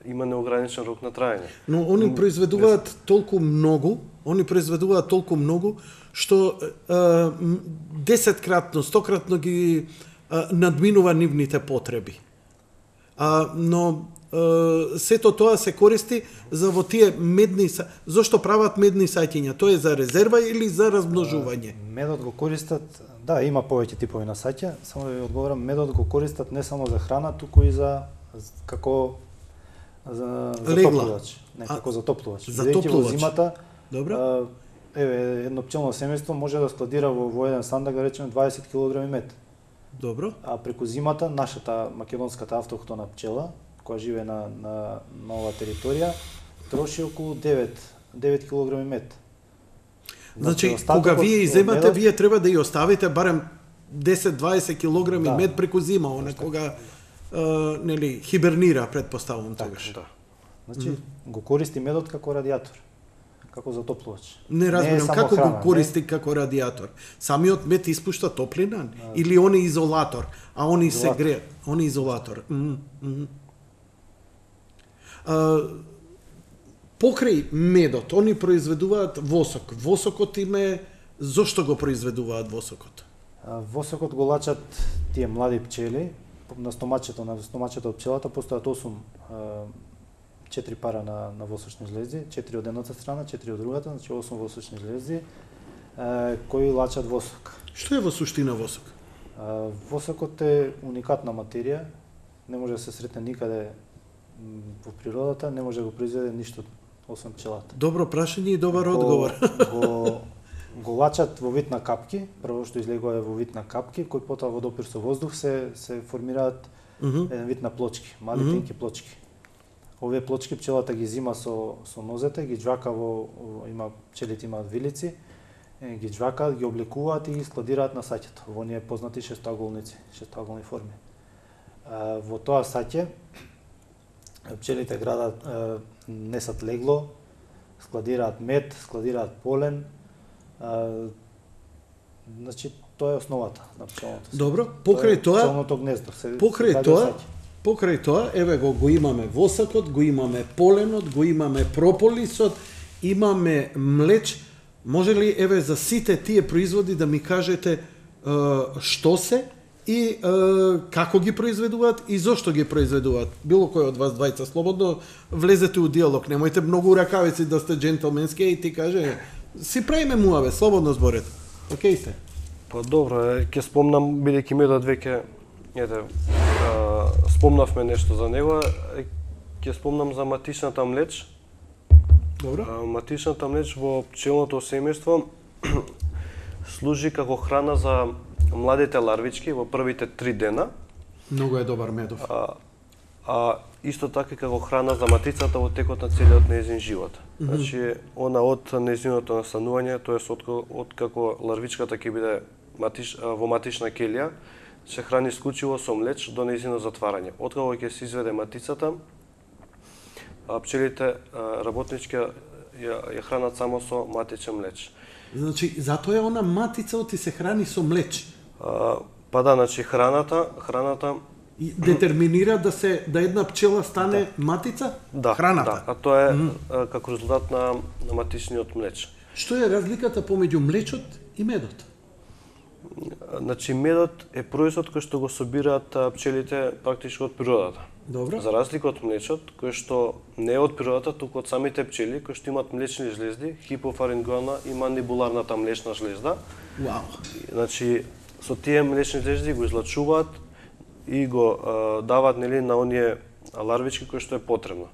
има неограничен рок на траење. Но они произведуваат толку многу, што 10-кратно, 100-кратно ги надминува нивните потреби. Но сето тоа се користи за во тие медни зошто прават медни саќиња? Тоа е за резерва или за размножување? Медот го користат, да, има повеќе типови на саќа, само да ви одговорам, медот го користат не само за храна, туку и за како за затоплувач, не како затоплувач. Бидејќи во зимата, добро. Еве едно пчелно семејство може да складира во еден сандак, да речеме 20 кг мед. Добро. А преку зимата нашата македонската автохтона пчела која живее на оваа територија, троши околу 9 кг мед. Значи, кога вие иземате, вие треба да ја оставите барем 10-20 кг мед преку зима, кога нели хибернира, предпоставувам тогаш. Да. Значи, го користи медот како радиатор, како затоплувач. Не разбирам како го користи како радиатор. Самиот мед испушта топлина или он е изолатор, а они се греат, он е изолатор. Покрај медот, они произведуваат восок. Восокот им е, зошто го произведуваат восокот? Восокот го лачат тие млади пчели, на стомачето од пчелата постојат 4 пара на восочни жлезди, 4 од едната страна, 4 од другата, значи 8 восочни жлезди, кои лачат восок. Што е во суштина восок? Восокот е уникатна материја, не може да се сретне никаде во природата, не може да го произведе ништо освен пчелата. Добро прашање и добар одговор. Го лачат во вид на капки, прво што излегува е во вид на капки, кои потоа во допир со воздух се формираат еден вид на плочки, мали тенки плочки. Овие плочки пчелата ги зима со нозете, ги џвака има пчелите имаат вилици, ги џвакаат, ги облекуваат и ги складираат на саќето. Во оние познати шестоаголни форми. Во тоа саќе пчелите градат, несат легло, складираат мед, складираат полен. Значи тоа е основата на пчелното. Добро, покрај тоа, пчелното гнездо. Покрај тоа, еве го имаме восакот, го имаме поленот, го имаме прополисот, имаме млеч. Може ли еве за сите тие производи да ми кажете што се и како ги произведуваат и зошто ги произведуваат? Било кој од вас двајца слободно влезете у диалог, немојте многу ракавици да сте джентълменски и ти каже си правиме муаве, слободно зборете. Океј сте. Па добро, ќе спомнам бидејќи медот веќе спомнавме нешто за него, ќе спомнам за матичната млеч. Добро. Матичната млеч во пчелното семејство служи како храна за младите ларвички во првите 3 дена. Многу е добар медов. Исто така како храна за матицата во текот на целиот нејзин живот. Значи, она од нејзиното настанување, тоест од како ларвичката ќе биде во матична келија, се храни исклучиво со млеч до нејзино затварање. Откако ќе се изведе матицата, пчелите работнички ја хранат само со матичен млеч. Значи, затоа е она матица оти се храни со млеч. Па да, значи храната и детерминира да една пчела стане матица? Да, храната. Да, а тоа е како резултат на матичниот млеч. Што е разликата помеѓу млечот и медот? Значи медот е производ кој што го собираат пчелите практички од природата. Добро. За разлика од млечот, кој што не е од природата, туку од самите пчели кои што имаат млечни жлезди, хипофарингеална и мандибуларната млечна жлезда. Вау. Значи со тие млечни жлезди го излачуваат и го даваат на оние ларвички кои што е потребно.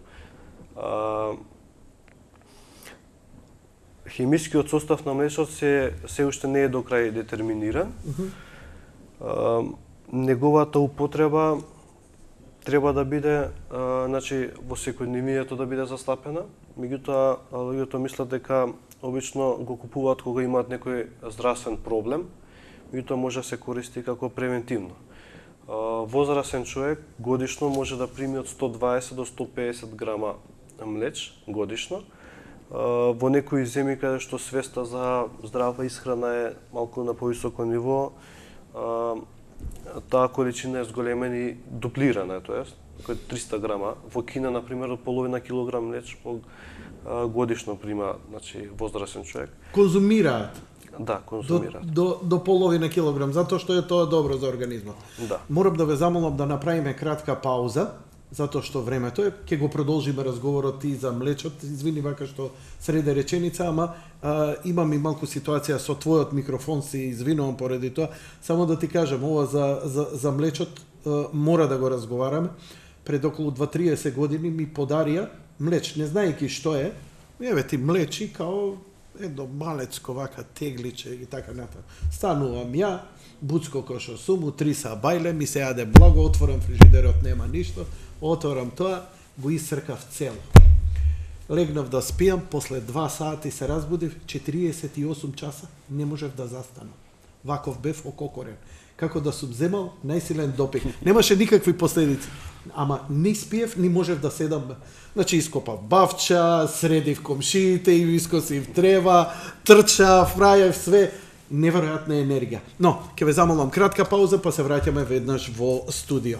Хемискиот состав на млечот се уште не е до крај детерминиран. Неговата употреба треба да биде значи во секојдневието да биде застапена, меѓутоа луѓето мислат дека обично го купуваат кога имаат некој здравствен проблем, меѓутоа може да се користи како превентивно. Возрасен човек годишно може да прими од 120 до 150 грама млеч годишно. Во некои земји каде што свеста за здрава исхрана е малку на повисоко ниво, таа количина е зголемена и дуплирана, тоест, кој 300 грама. Во Кина, например, од половина килограм млеч годишно прима, значи, возрасен човек. Конзумираат? Да, конзумираат. До половина килограм, затоа што е тоа добро за организмот. Да. Морам да ве замолам да направиме кратка пауза, затоа што времето е, ќе го продолжиме разговорот и за млечот. Извини вака што среде реченица, ама имам и малку ситуација со твојот микрофон, се извинувам поради тоа. Само да ти кажам, ова за млечот мора да го разговараме. Пред околу 2-30 години ми подарија млеч, не знаејќи што е. Еве ти млечи као едно малецко вака тегличе и така натаму. Станувам ја, буцко кој што сум, 3 са бајле, ми се јаде благо, отворам фрижидерот, нема ништо, отворам тоа, го исцркав цело. Легнав да спијам, после 2 сати се разбудив, 48 часа не можев да застанам. Ваков бев ококорен. Како да сум земал најсилен допинг. Немаше никакви последици. Ама не спиев, не можев да седам. Значи ископав бавча, средив комшиите, и искосив трева, трчав, прајав све. Неверојатна енергија. Но, ќе ве замолам кратка пауза, па се враќаме веднаш во студио.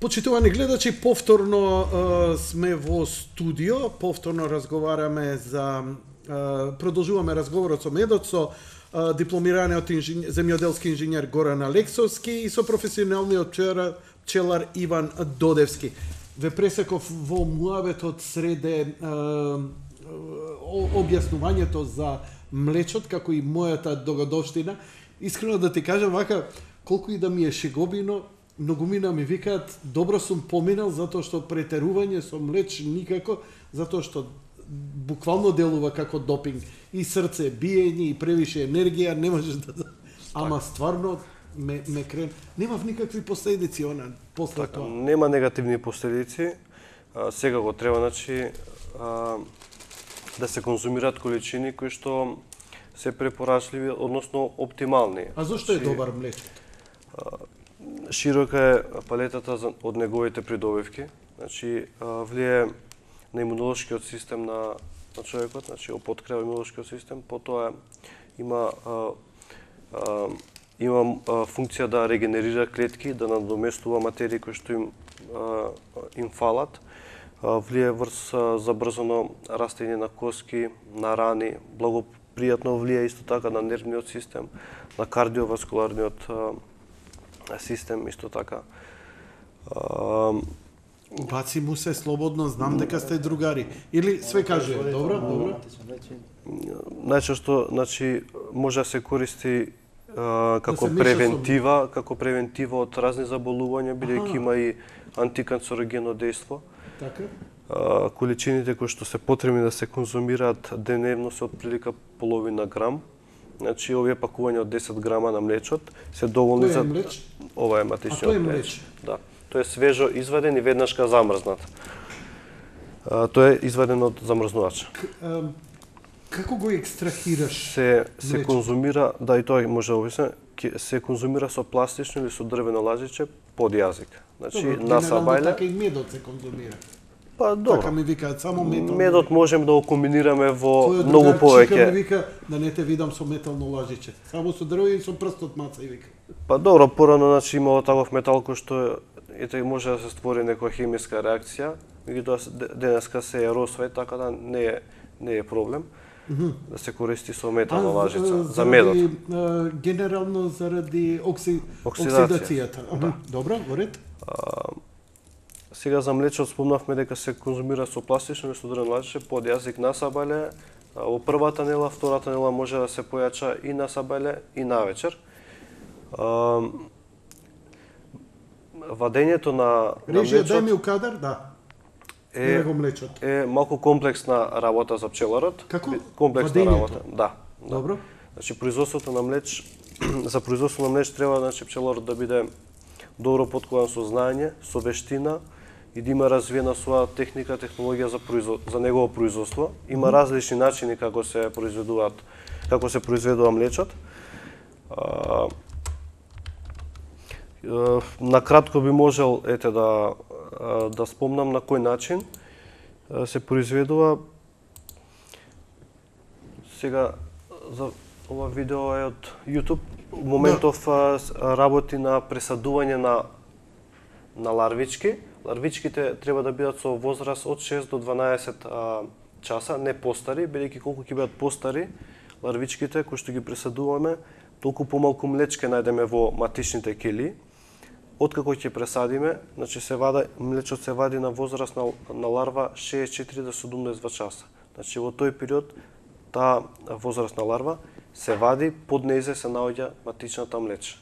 Почитувани гледачи, повторно сме во студио, повторно разговараме продолжуваме разговорот со медот, со дипломираниот земјоделски инженер Горан Алексовски и со професионалниот пчелар Иван Додевски. Ве пресеков во муабетот среде објаснувањето за млечот, како и мојата догодовштина. Искрено да ти кажам, вака, колку и да ми е шеговино, многумина ми викаат, добро сум поминал, затоа што претерување со млеч никако, затоа што буквално делува како допинг. И срце, биење, и превише енергија, не можеш да... Ама стварно, ме крен... Немав никакви последици, после тоа. Нема негативни последици. Сега го треба, значи, да се конзумираат количини кои што се препорачливи, односно оптимални. А зошто е добар млечот? Широка е палетата од неговите придобивки. Значи, влие на имунолошкиот систем на човекот, значи опоткрива имунолошкиот систем, потоа има функција да регенерира клетки, да надоместува материи кои што им фалат. Влие врз забрзано растење на коски, на рани, благопријатно влие исто така на нервниот систем, на кардиоваскуларниот систем исто така. Баци му се слободно, знам дека сте другари. Или све каже, добро, добро. Најчесто, значи, може да се користи како превентива од разни заболувања, бидејќи има и антиканцерогенно дејство. Така? Количините кои што се потребни да се конзумираат деневно се отприлика половина грам. Значи, овие пакувања од 10 грама на млечот се доволни за... Тој е млеч? Ова е матичниот млеч. млеч. Да. Тој е свежо изваден и веднашка замрзнат. Тој е изваден од замрзнувача. Како го екстрахираш? Се конзумира, да, и тоа може да обяснам, се конзумира со пластично или со дрвено лажиче под јазик. Значи, на сабајле... Така и медот се конзумира. Па, добро. Така ми викаат, само метално. Медот можем да го комбинираме во многу повеќе. Чика ми вика, да не те видам со метално лажиче. Само со дрво и со прстот маца и вика. Па добро, порано, значи, имало таков метал кој што може да се створи некоја хемиска реакција, меѓутоа денеска се еросва, така да не е проблем да се користи со метална лажица за медот. Генерално заради оксидацијата. Да. Добро, во ред. Сега за млечот спомнавме дека се конзумира со пластично или со дрвено лажиче под јазик на сабајле. Во првата нела, втората нела може да се појача и на сабајле и на вечер. Вадењето на Режија, млечот... дај ми у кадар, да. Е малку комплексна работа за пчеларот. Како? Комплексна работа, да. Добро. Значи, производството на млеч, за производство на млеч треба, значи, пчеларот да биде добро подкован со знаење, со вештина и да има развиена своја техника, технологија за негово производство. Има различни начини како се произведува млечот. На кратко би можел да спомнам на кој начин се произведува. Сега за ова видео е од YouTube. Моментов работи на пресадување на ларвички. Ларвичките треба да бидат со возраст од 6 до 12 часа, не постари, бидејќи колку ќе бидат постари ларвичките кои што ги пресадуваме, толку помалку млечке најдеме во матичните келии. Откако ќе пресадиме, значи млечот се вади на возраст на ларва 64 до 72 часа. Значи во тој период таа возраст на ларва се вади, под нејзе се наоѓа матичната млеч.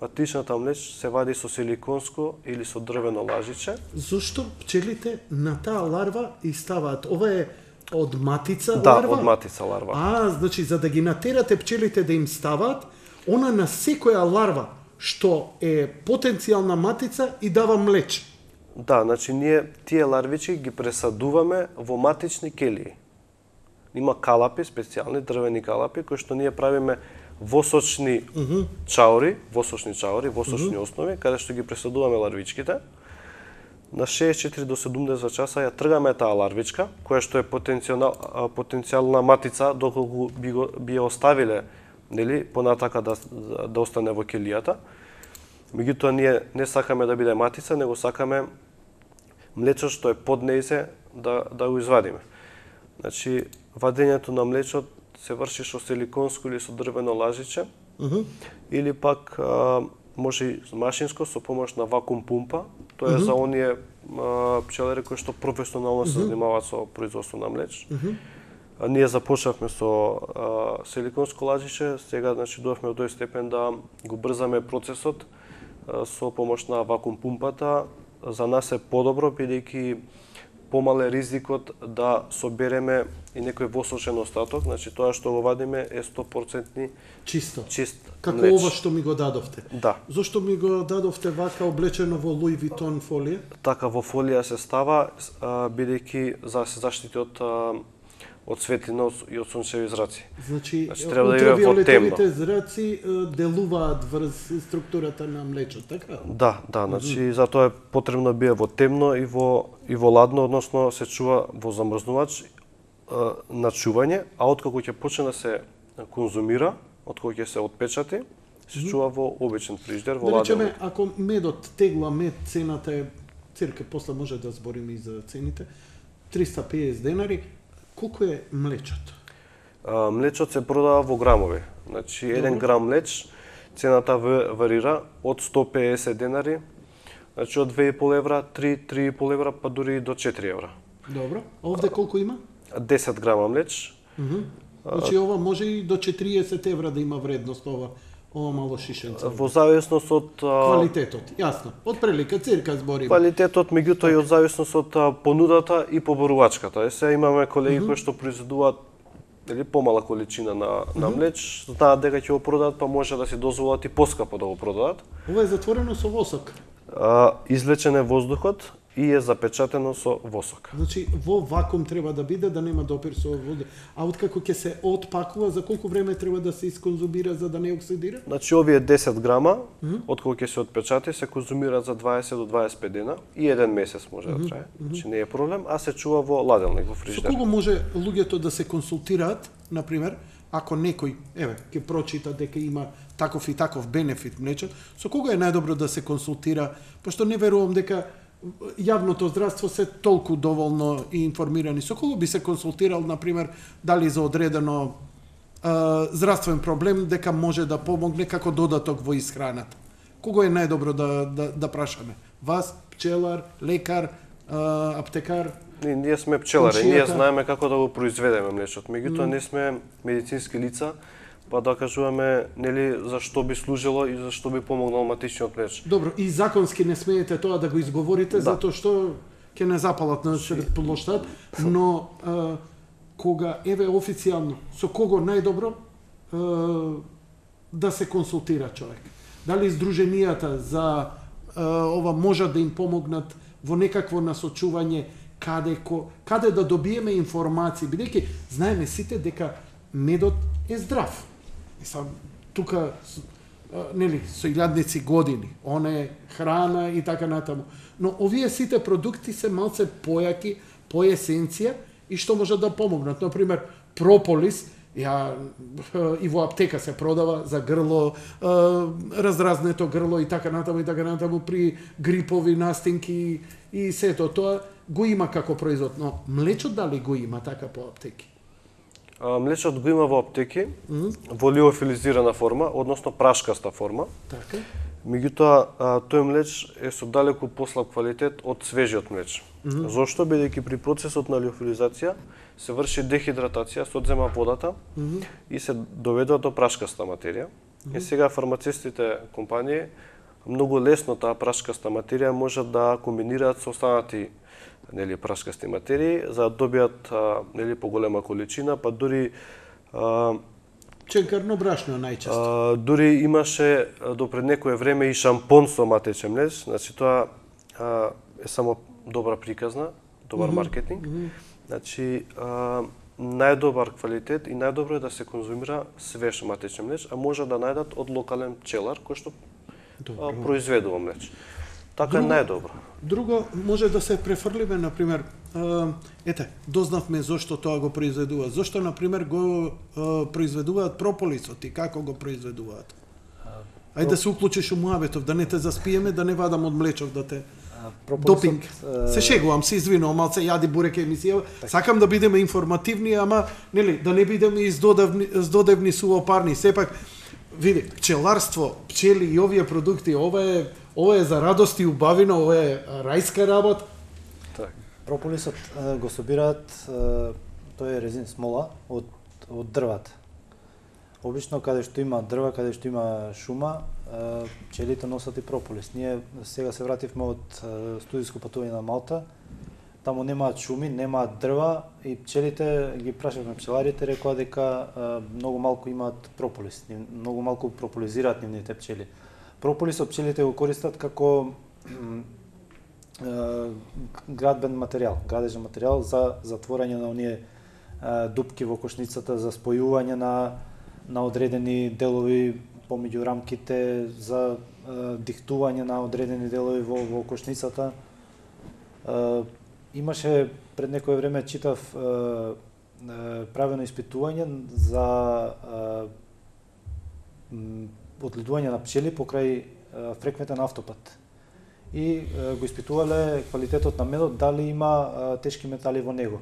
Матичната млеч се вади со силиконско или со дрвено лажиче. Зошто пчелите на таа ларва и ставаат? Ова е од матица ларва? Да, од матица ларва. Значи за да ги натерате пчелите да им ставаат, она на секоја ларва што е потенцијална матица и дава млеч. Да, значи ние тие ларвички ги пресадуваме во матични келии. Има калапи, специјални дрвени калапи, кои што ние правиме восочни чаури, восочни основи, каде што ги пресадуваме ларвичките. На 64 до 70 часа ја тргаме таа ларвичка, која што е потенцијална матица, доколку би ја оставиле, нели, понатака да остане во келијата. Меѓутоа ние не сакаме да биде матица, него сакаме млечот што е под нејзе да го извадиме. Значи, вадењето на млечот се врши со силиконско или со дрвено лажиче, или пак може и машинско со помош на вакуум пумпа. Тоа е за оние пчелари кои што професионално се занимаваат со производство на млеч. Ние започнавме со силиконско лажище, сега значи дојавме до тој степен да го брзаме процесот со помош на вакуум пумпата. За нас е подобро бидејќи помал е ризикот да собереме и некој восочен остаток, значи тоа што го вадиме е 100% чисто. Чист Како млеч. ова што ми го дадовте. Да. Зошто ми го дадовте вака облечено во Луи Витон фолија? Така во фолија се става бидејќи за да се заштити од светлина и од сончеви зраци. Значи, треба да иде во ултравиолетовите зраци делуваат врз структурата на млечот, така? Да, значи затоа е потребно бие во темно и во ладно, односно се чува во замрзнувач на чување, а откако ќе почне да се конзумира, откако ќе се отпечати, се чува во обичен фриждер, во Да ладен. речеме, ако медот тегла мед, цената е цирка, после може да збориме и за цените, 350 денари. Колку е млечото? Млечот се продава во грамови. Значи, 1 грам млеч, цената варира од 150 денари, значи од 2,5 евра, 3,5 евра, па дури и до 4 евра. Добро. А овде колку има? 10 грама млеч. Значи ова може и до 40 евра да има вредност ова мало шишенце. Во зависност од Квалитетот, јасно. Од прилика, цирка збориме. квалитетот, меѓутоа и од зависност од понудата и поборувачката. Сега имаме колеги кои што произведуваат помала количина на млеч, знаат дека ќе го продадат, па може да си дозволат и поскапо да го продадат. Ова е затворено со восок. Извлечен е воздухот и е запечатено со восок. Значи, во вакуум треба да биде, да нема допир со вода. А откако ќе се отпакува, за колку време треба да се исконзумира за да не оксидира? Значи, овие 10 грама, откако ќе се отпечати, се конзумираат за 20 до 25 дена и 1 месец може да трае. Значи, не е проблем, а се чува во ладелник, во Со фриждер. кого може луѓето да се консултираат, например, ако некој, ќе прочита дека има таков и таков бенефит млечот, со кого е најдобро да се консултира, пошто не верувам дека јавното здравство се толку доволно и информирани. Со кого би се консултирал, например, дали за одредено здравствен проблем, дека може да помогне како додаток во исхраната? Кого е најдобро да прашаме? Вас, пчелар, лекар, аптекар? Ние сме пчелари, ние Комшијата. знаеме како да го произведеме млечот. Меѓутоа не сме медицински лица, па да кажуваме нели за што би служило и за што би помогнал матичниот млеч. Добро, и законски не смеете тоа да го изговорите, затоа што ќе не запалат на плоштад, но кога официјално, со кого најдобро да се консултира човек? Дали издруженијата за ова можат да им помогнат во некакво насочување каде да добиеме информации, бидејќи знаеме сите дека медот е здрав. Мислам, тука нели со илјадници години, она е храна и така натаму. Но овие сите продукти се малце појаки, по есенција и што може да помогнат. Например, прополис, и во аптека се продава за грло, раздразнето грло и така натаму при грипови настинки и сето тоа го има како производ. Но млечот дали го има така по аптеки? Млечот го има во аптеки, во лиофилизирана форма, односно прашкаста форма. Така. Меѓутоа, тој млеч е со далеку послаб квалитет од свежиот млеч. Зошто? Бидејќи при процесот на лиофилизација се врши дехидратација, се одзема водата и се доведува до прашкаста материја. И сега фармацевтите компании многу лесно таа прашкаста материја можат да комбинираат со останати прашкасти материи за да добијат поголема количина, па дури ченкарно брашно најчесто. Дури имаше до пред некое време и шампон со матечен млеч, значи тоа е само добра приказна, добар маркетинг. Значи најдобар квалитет и најдобро е да се конзумира свеж матечен млеч, а може да најдат од локален пчелар кој што произведува млеч. Така е најдобро. Друго, може да се префрлиме, например, дознавме зошто тоа го произведува. Зошто, например, го произведуваат прополисот и како го произведуваат? Ајде да се уклучиш у муабетов, да не те заспиеме, да не вадам од млечов, да те допинг. Се шегувам, се извинувам, малце јади бурек емисија. Сакам да бидеме информативни, ама нели да не бидеме издодевни сувопарни. Сепак, види, пчеларство, пчели и овие продукти, ова е за радост и убавина, ова е рајска работа. Прополисот го собираат Тоа е резин смола од дрвата. Обично каде што има дрва, каде што има шума, пчелите носат и прополис. Ние сега се вративме од студиско патување на Малта. Таму немаат шуми, немаат дрва и пчелите ги прашавме пчеларите, рекоа дека многу малку имаат прополис, многу малку прополизираат нивните пчели. Прополисот пчелите го користат како градбен материјал, градежен материјал за затворање на оние дупки во кошницата, за спојување на одредени делови помеѓу рамките, за диктување на одредени делови во кошницата. Имаше пред некое време читав правено испитување за одледување на пчели покрај фреквентен автопат. И го испитувале квалитетот на медот, дали има тешки метали во него.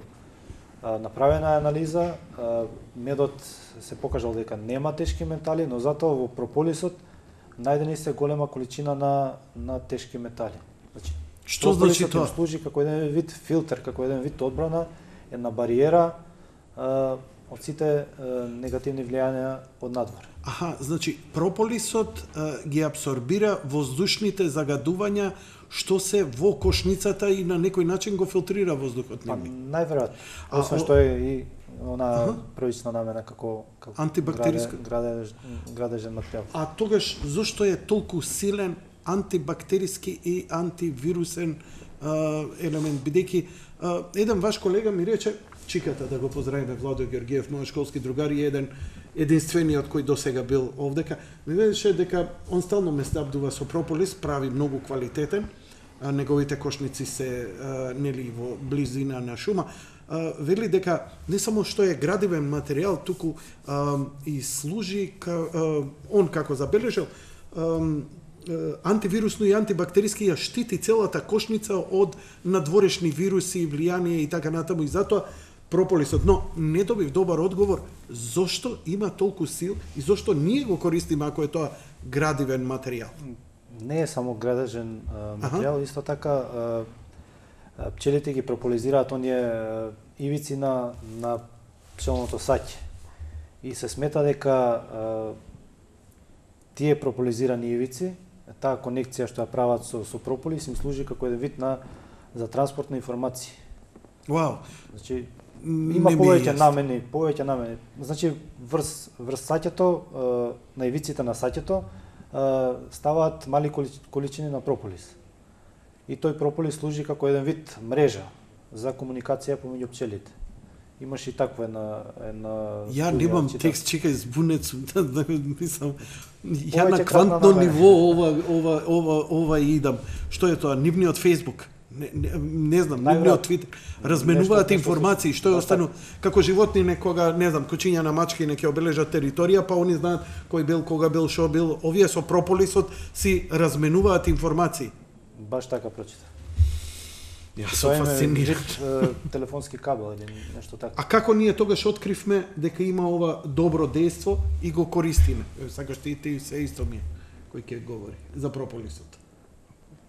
Направена е анализа, медот се покажал дека нема тешки метали, но затоа во прополисот најдени се голема количина на тешки метали. Значи, што значи тоа? Служи како еден вид филтер, како еден вид одбрана, една бариера од сите негативни влијанија од надвор. Аха, значи прополисот ги абсорбира воздушните загадувања што се во кошницата и на некој начин го филтрира воздухот нивни. Најверојатно. Освен што е и она првична намена како антибактериска градежен материјал. А тогаш зошто е толку силен антибактериски и антивирусен елемент, бидејќи еден ваш колега ми рече, чиката да го поздравиме, Владо Георгиев, мој школски другар и единствениот кој досега бил овдека, ми велеше дека он стално ме снабдува со прополис, прави многу квалитетен, неговите кошници се нели во близина на шума. Вели дека не само што е градивен материјал, туку и служи он како забележал антивирусно и антибактериски ја штити целата кошница од надворешни вируси, влијанија и така натаму, и затоа прополисот. Но не добив добар одговор зошто има толку сил и зошто ние го користиме ако е тоа градивен материјал. Не е само градежен материјал, исто така пчелите ги прополизираат оние ивици на пчелното саќе. И се смета дека тие прополизирани ивици, таа конекција што ја прават со прополис им служи како еден вид за транспорт на информации. Вау. Значи има повеќе намени. Значи врз саќето, на ивиците на саќето ставаат мали количини на прополис. И тој прополис служи како еден вид мрежа за комуникација помеѓу пчелите. Имаш и таква една ја немам текст, чекај, збунет сум, мислам, ја на квантно ниво ова идам. Што е тоа? Нивниот Facebook? Не знам, нивниот Твитер. Разменуваат информации, што е остану како животни кога, не знам, кучиња на мачки ќе обележат територија, па они знаат кој бил, кога бил, шо бил. Овие со прополисот си разменуваат информации. Баш така прочитав. Јас сум фасциниран. Телефонски кабел или нешто така. А како ние тогаш откривме дека има ова добро дејство и го користиме? Сакаш ти се исто ми кој ќе говори за прополисот.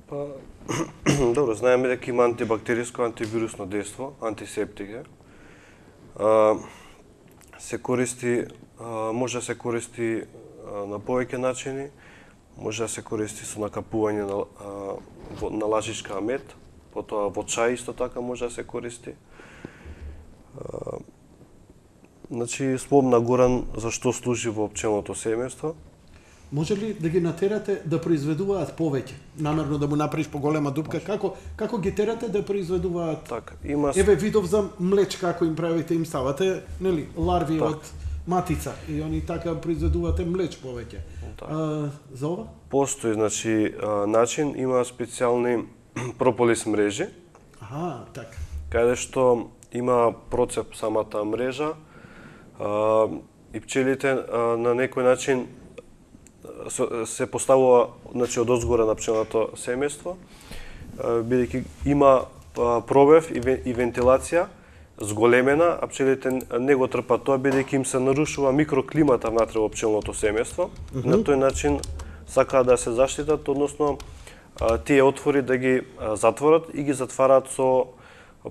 Па добро, знаеме дека има антибактериско, антивирусно дејство, антисептик е. Се користи, може да се користи на повеќе начини, може да се користи со накапување на лажичка мед, потоа во чај исто така може да се користи. Значи, спомна Горан за што служи во пчелното семејство. Може ли да ги натерате да произведуваат повеќе? Намерно да му направиш поголема дупка? Како ги терате да произведуваат? Така, Еве видов за млечка, ако им правите, им ставате, нели, ларви од матица и они така произведувате млеч повеќе. За ова? Постои, значи, начин, има специјални прополис мрежи. така. Каде што има процеп самата мрежа и пчелите на некој начин се поставува, значи, од озгора на пчелното семејство, бидејќи има пробив и вентилација зголемена, а пчелите не го трпат тоа, бидејќи им се нарушува микроклимата внатре во пчелното семејство. На тој начин сакаат да се заштитат, односно тие отвори да ги затворат и ги затвараат со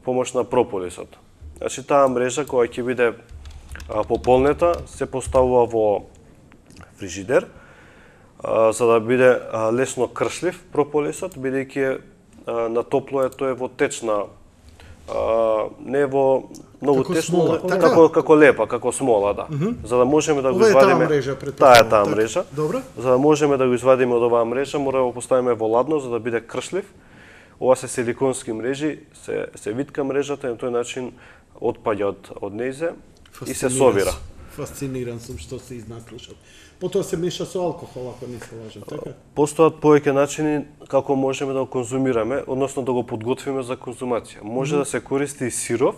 помош на прополисот. Значи таа мрежа која ќе биде пополнета се поставува во фрижидер, за да биде лесно кршлив прополисот, бидејќи на топло е тој во течна, не во многу тесно, како лепа, како смола, да. За да можеме да го извадиме. Таа е таа мрежа. Добро. За да можеме да го извадиме од оваа мрежа, мора да го поставиме во ладно за да биде кршлив. Ова се силиконски мрежи, се витка мрежата и на тој начин отпаѓа од нејзе и се совира. Фасциниран сум што се изнаслушав. Потоа се меша со алкохол, ако не се лажам, така? Постојат повеќе начини како можеме да го конзумираме, односно да го подготвиме за конзумација. Може да се користи сиров,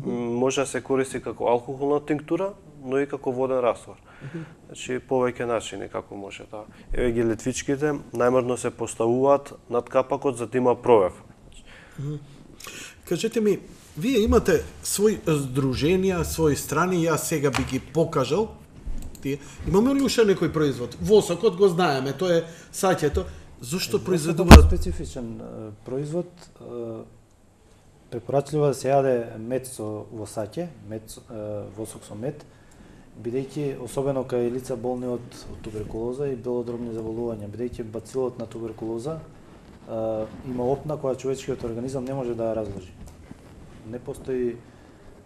може да се користи како алкохолна тинктура, но и како воден раствор. Значи повеќе начини како може да. Еве ги летвичките најмерно се поставуваат над капакот за да има провев. Кажете ми, вие имате свои здруженија, свои страни, јас сега би ги покажал. Имаме ли уште некој производ? Восокот го знаеме, тоа е саќето. Зошто произведуваат специфичен производ? Препорачливо да се јаде мед во саќе, восок со мед, бидејќи особено кај лица болни од туберкулоза и белодробни заболувања, бидејќи бацилот на туберкулоза има опна која човечкиот организам не може да ја разложи. Не постои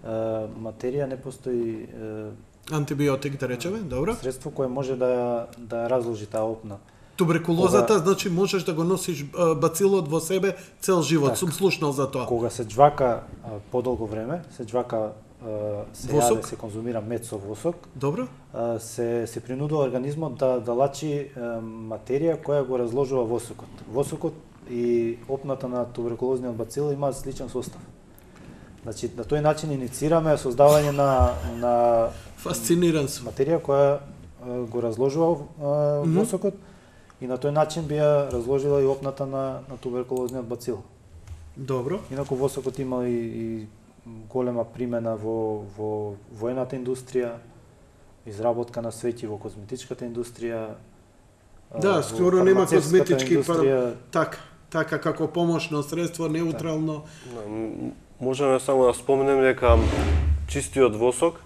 материја, не постои антибиотик, да речеме, добро? Средство кое може да ја разложи таа опна. Туберкулозата, значи можеш да го носиш бацилот во себе цел живот. Сум слушнал за тоа. Кога се џвака подолго време, се џвака се јаде, се конзумира мед со восок. Добро. Се принудува организмот да лачи материја која го разложува восокот. Восокот и опната на туберкулозниот бацил имаат сличен состав. Значи, на тој начин иницираме создавање на фасциниран сум. Материја која го разложува восокот и на тој начин би ја разложила и опната на туберкулозниот бацил. Добро. Инаку восокот има и голема примена во воената индустрија, изработка на свеќи во козметичката индустрија. Да, скоро нема козметички така како помошно средство, неутрално. Можеме само да споменем дека чистиот восок.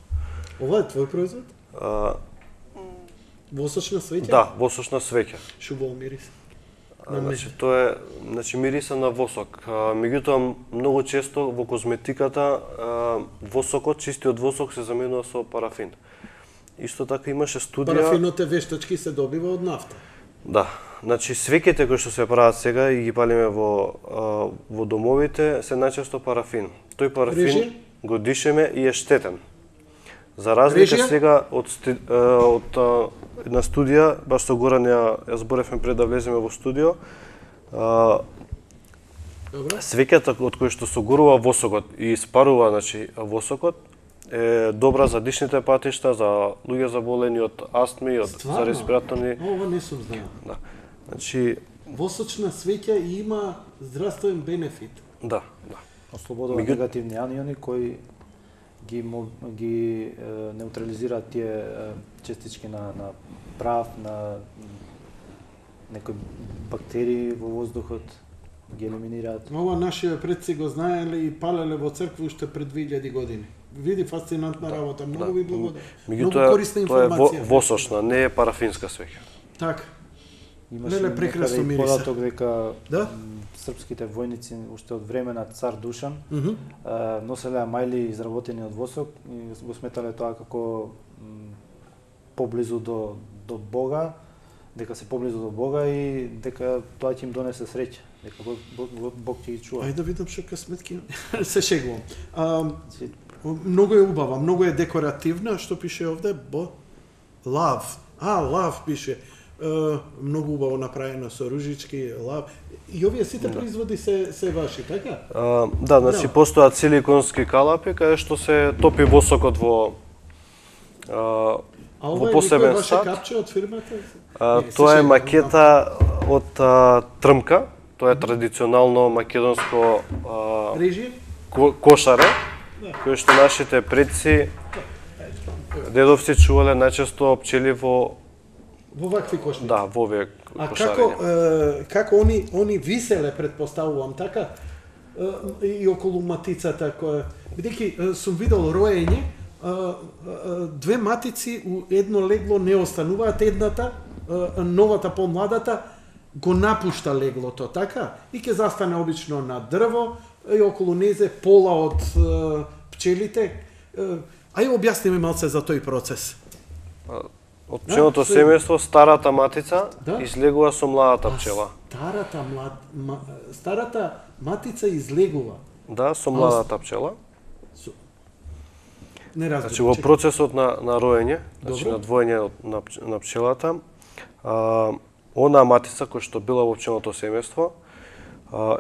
Ова е твој производ? Восочна свеќа? Да, восочна свеќа. Шубаво мирис. Значи тоа е, мириса на восок. Меѓутоа многу често во козметиката восокот, чистиот восок се заменува со парафин. Исто така имаше студија. Парафинот е вештачки, се добива од нафта. Да, значи свеќите кои што се прават сега и ги палиме во домовите се најчесто парафин. Тој парафин го дишеме и е штетен. За разлика сега од една студија, баш со Горан ја зборевме пред да влеземе во студио, свеќата од која што согорува восокот и испарува, значи, восокот, е добра за дишните патишта, за луѓе заболени од астми, за респираторни. Ова не сум знаел. Да. Значи восочна свеќа има здравствен бенефит. Да. Ослободува негативни аниони кои ги неутрализираат тие частички на прав, на некои бактерии во воздухот, ги елиминираат. Ова нашите предци го знаеле и палеле во црква уште пред 2000 години. Види, фасцинантна работа, многу ви благодарам. Многу корисна информација. Тоа е восочна, не е парафинска свеќа. Така. Имаше прекрасно мириса. Податок дека српските војници уште од време на цар Душан носеле мајли изработени од восок и го сметале тоа како поблизу до Бога, дека се поблизу до Бога и дека тоа ќе им донесе среќа, дека Бог ќе ги чува. Ајде да видам што сметки. Се шегувам. Многу е убава, многу е декоративна, што пише овде, лав. Лав пише. Многу убаво направено со ружички, лав. И овие сите производи се ваши, така? Да, значи постојат силиконски калапи каде што се топи восокот во посебен сад. А ова е капче од фирмата? Тоа е макета од трмка. Тоа е традиционално македонско кошаре, кој што нашите предци, дедовци чувале најчесто пчели во вакви кошници. Да, во овие кошарења. А како они виселе, предпоставувам, така? и околу матицата која бидејќи сум видел роење, две матици у едно легло не остануваат, едната новата помладата го напушта леглото, така? И ќе застане обично на дрво и околу незе пола од пчелите. Ај објасни ми малце за тој процес. Од пчелното семејство старата матица излегува со младата пчела. Старата матица излегува. Да, со младата пчела. Не разбирам. Значи во процесот на роење, значи на двоење на пчелата, она матица која што била во пчелното семејство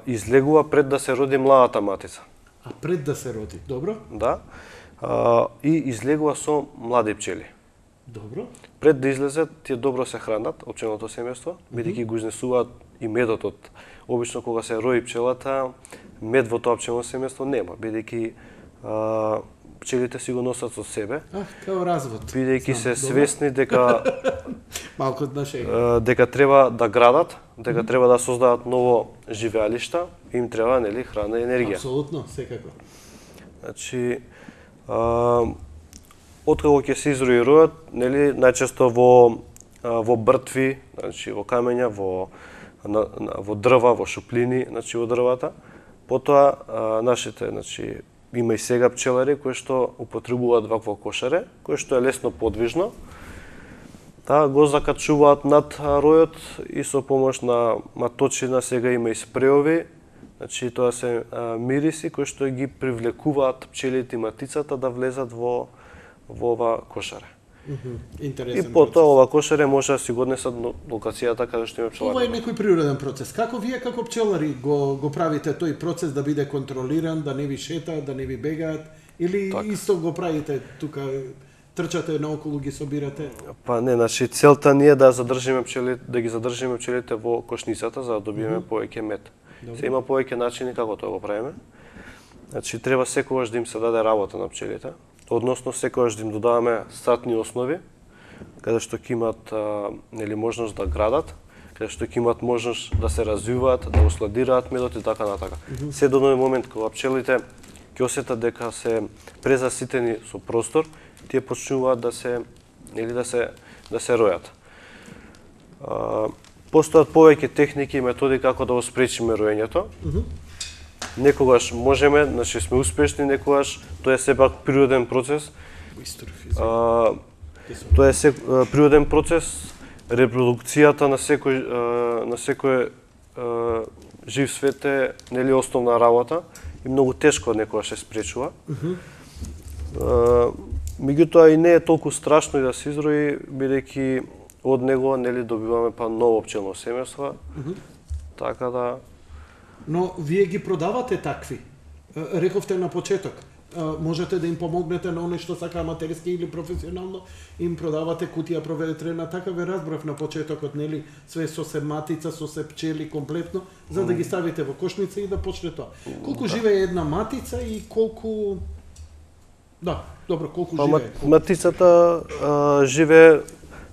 излегува пред да се роди младата матица. А пред да се роди, добро? Да. И излегува со млади пчели. Добро. Пред да излезат, тие добро се хранат од пчелното семејство, бидејќи го изнесуваат и медот од. Обично кога се рои пчелата, мед во тоа пчелно семејство нема, бидејќи пчелите си го носат со себе. Као развод. Бидејќи се свесни дека малку на шега. Дека треба да градат, дека треба да создадат ново живеалишта, им треба нели храна и енергија. Апсолутно, секако. Значи откако ќе се изројуваат, нели најчесто во бртви, значи во камења, во дрва, во шуплини, значи во дрвата. Потоа нашите, значи има и сега пчелари кои што употребуваат вакво кошаре, кое што е лесно подвижно. Го закачуваат над ројот и со помош на маточина сега има и спреови. Значи тоа се мириси кои што ги привлекуваат пчелите и матицата да влезат во ова кошаре. Интересен. И потоа ова кошаре може да си го однесат на локацијата каде што има пчелари. Ова е некој природен процес. Како вие како пчелари го правите тој процес да биде контролиран, да не ви шетаат, да не ви бегаат, или исто го правите тука, трчате наоколу, ги собирате? Па не, значи целта ни е да задржиме пчелите, да ги задржиме пчелите во кошницата за да добиеме повеќе мед. Се има повеќе начини како тоа го правиме. Значи треба секогаш да им се даде работа на пчелите, односно секогаш да им додаваме статни основи, каде што ќе имат нели можност да градат, каде што ќе имат можност да се развиваат, да усладираат медот и така натака. Се до оној момент кога пчелите ќе осетат дека се презаситени со простор, тие почнуваат да се нели да се ројат. Постојат повеќе техники и методи како да го спречиме роењето. Некогаш можеме, значи сме успешни, некогаш тоа е сепак природен процес. Тоа е природен процес, репродукцијата на секој жив свет е нели основна работа и многу тешко некогаш се спречува. Меѓутоа и не е толку страшно и да се изрои, бидејќи од него нели добиваме па ново пчелно семејство. Така да. Но вие ги продавате такви. Рековте на почеток. Можете да им помогнете на оној што сака аматерски или професионално, им продавате кутија проветрена, така ве разбрав на почетокот, нели, све со се матица, со се пчели комплетно, за да ги ставите во кошница и да почне тоа. Колку живее една матица и колку колку живее? Матицата живее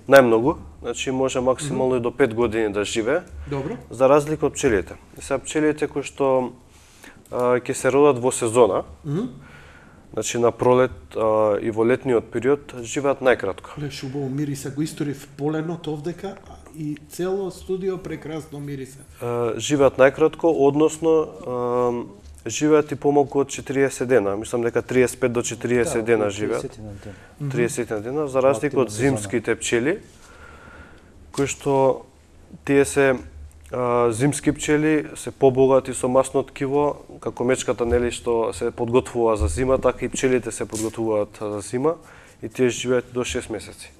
најмногу, значи може максимално и до 5 години да живее. Добро. За разлика од пчелите. Сега пчелите кои што ќе се родат во сезона, значи на пролет и во летниот период, живеат најкратко. Леш убаво мириса, го историв поленот овдека и цело студио прекрасно мириса. Живеат најкратко, односно живеат и помалку од 40 дена. Мислам дека 35 до 40 дена живеат. 30 дена, за разлика од зимските пчели, кои што тие се зимски пчели се побогати со масно ткиво, како мечката нели што се подготвува за зима, така и пчелите се подготвуваат за зима и тие живеат до 6 месеци.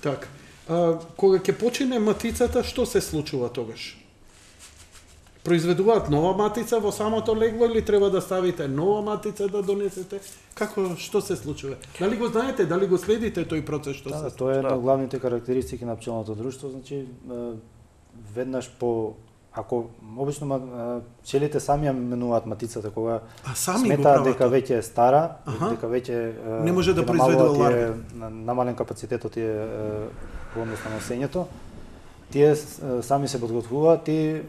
Така. Кога ќе почине матицата, што се случува тогаш? Произведуваат нова матица во самото легло или треба да ставите нова матица да донесете? Што се случува? Дали го знаете, дали го следите тој процес што се случува? Тоа е една од главните карактеристики на пчелното друштво, значи веднаш ако обично пчелите сами ја менуваат матицата кога сметаат дека веќе е стара, дека веќе не може да произведува ларви, намален капацитетот е во однос на носењето, тие сами се подготвуваат и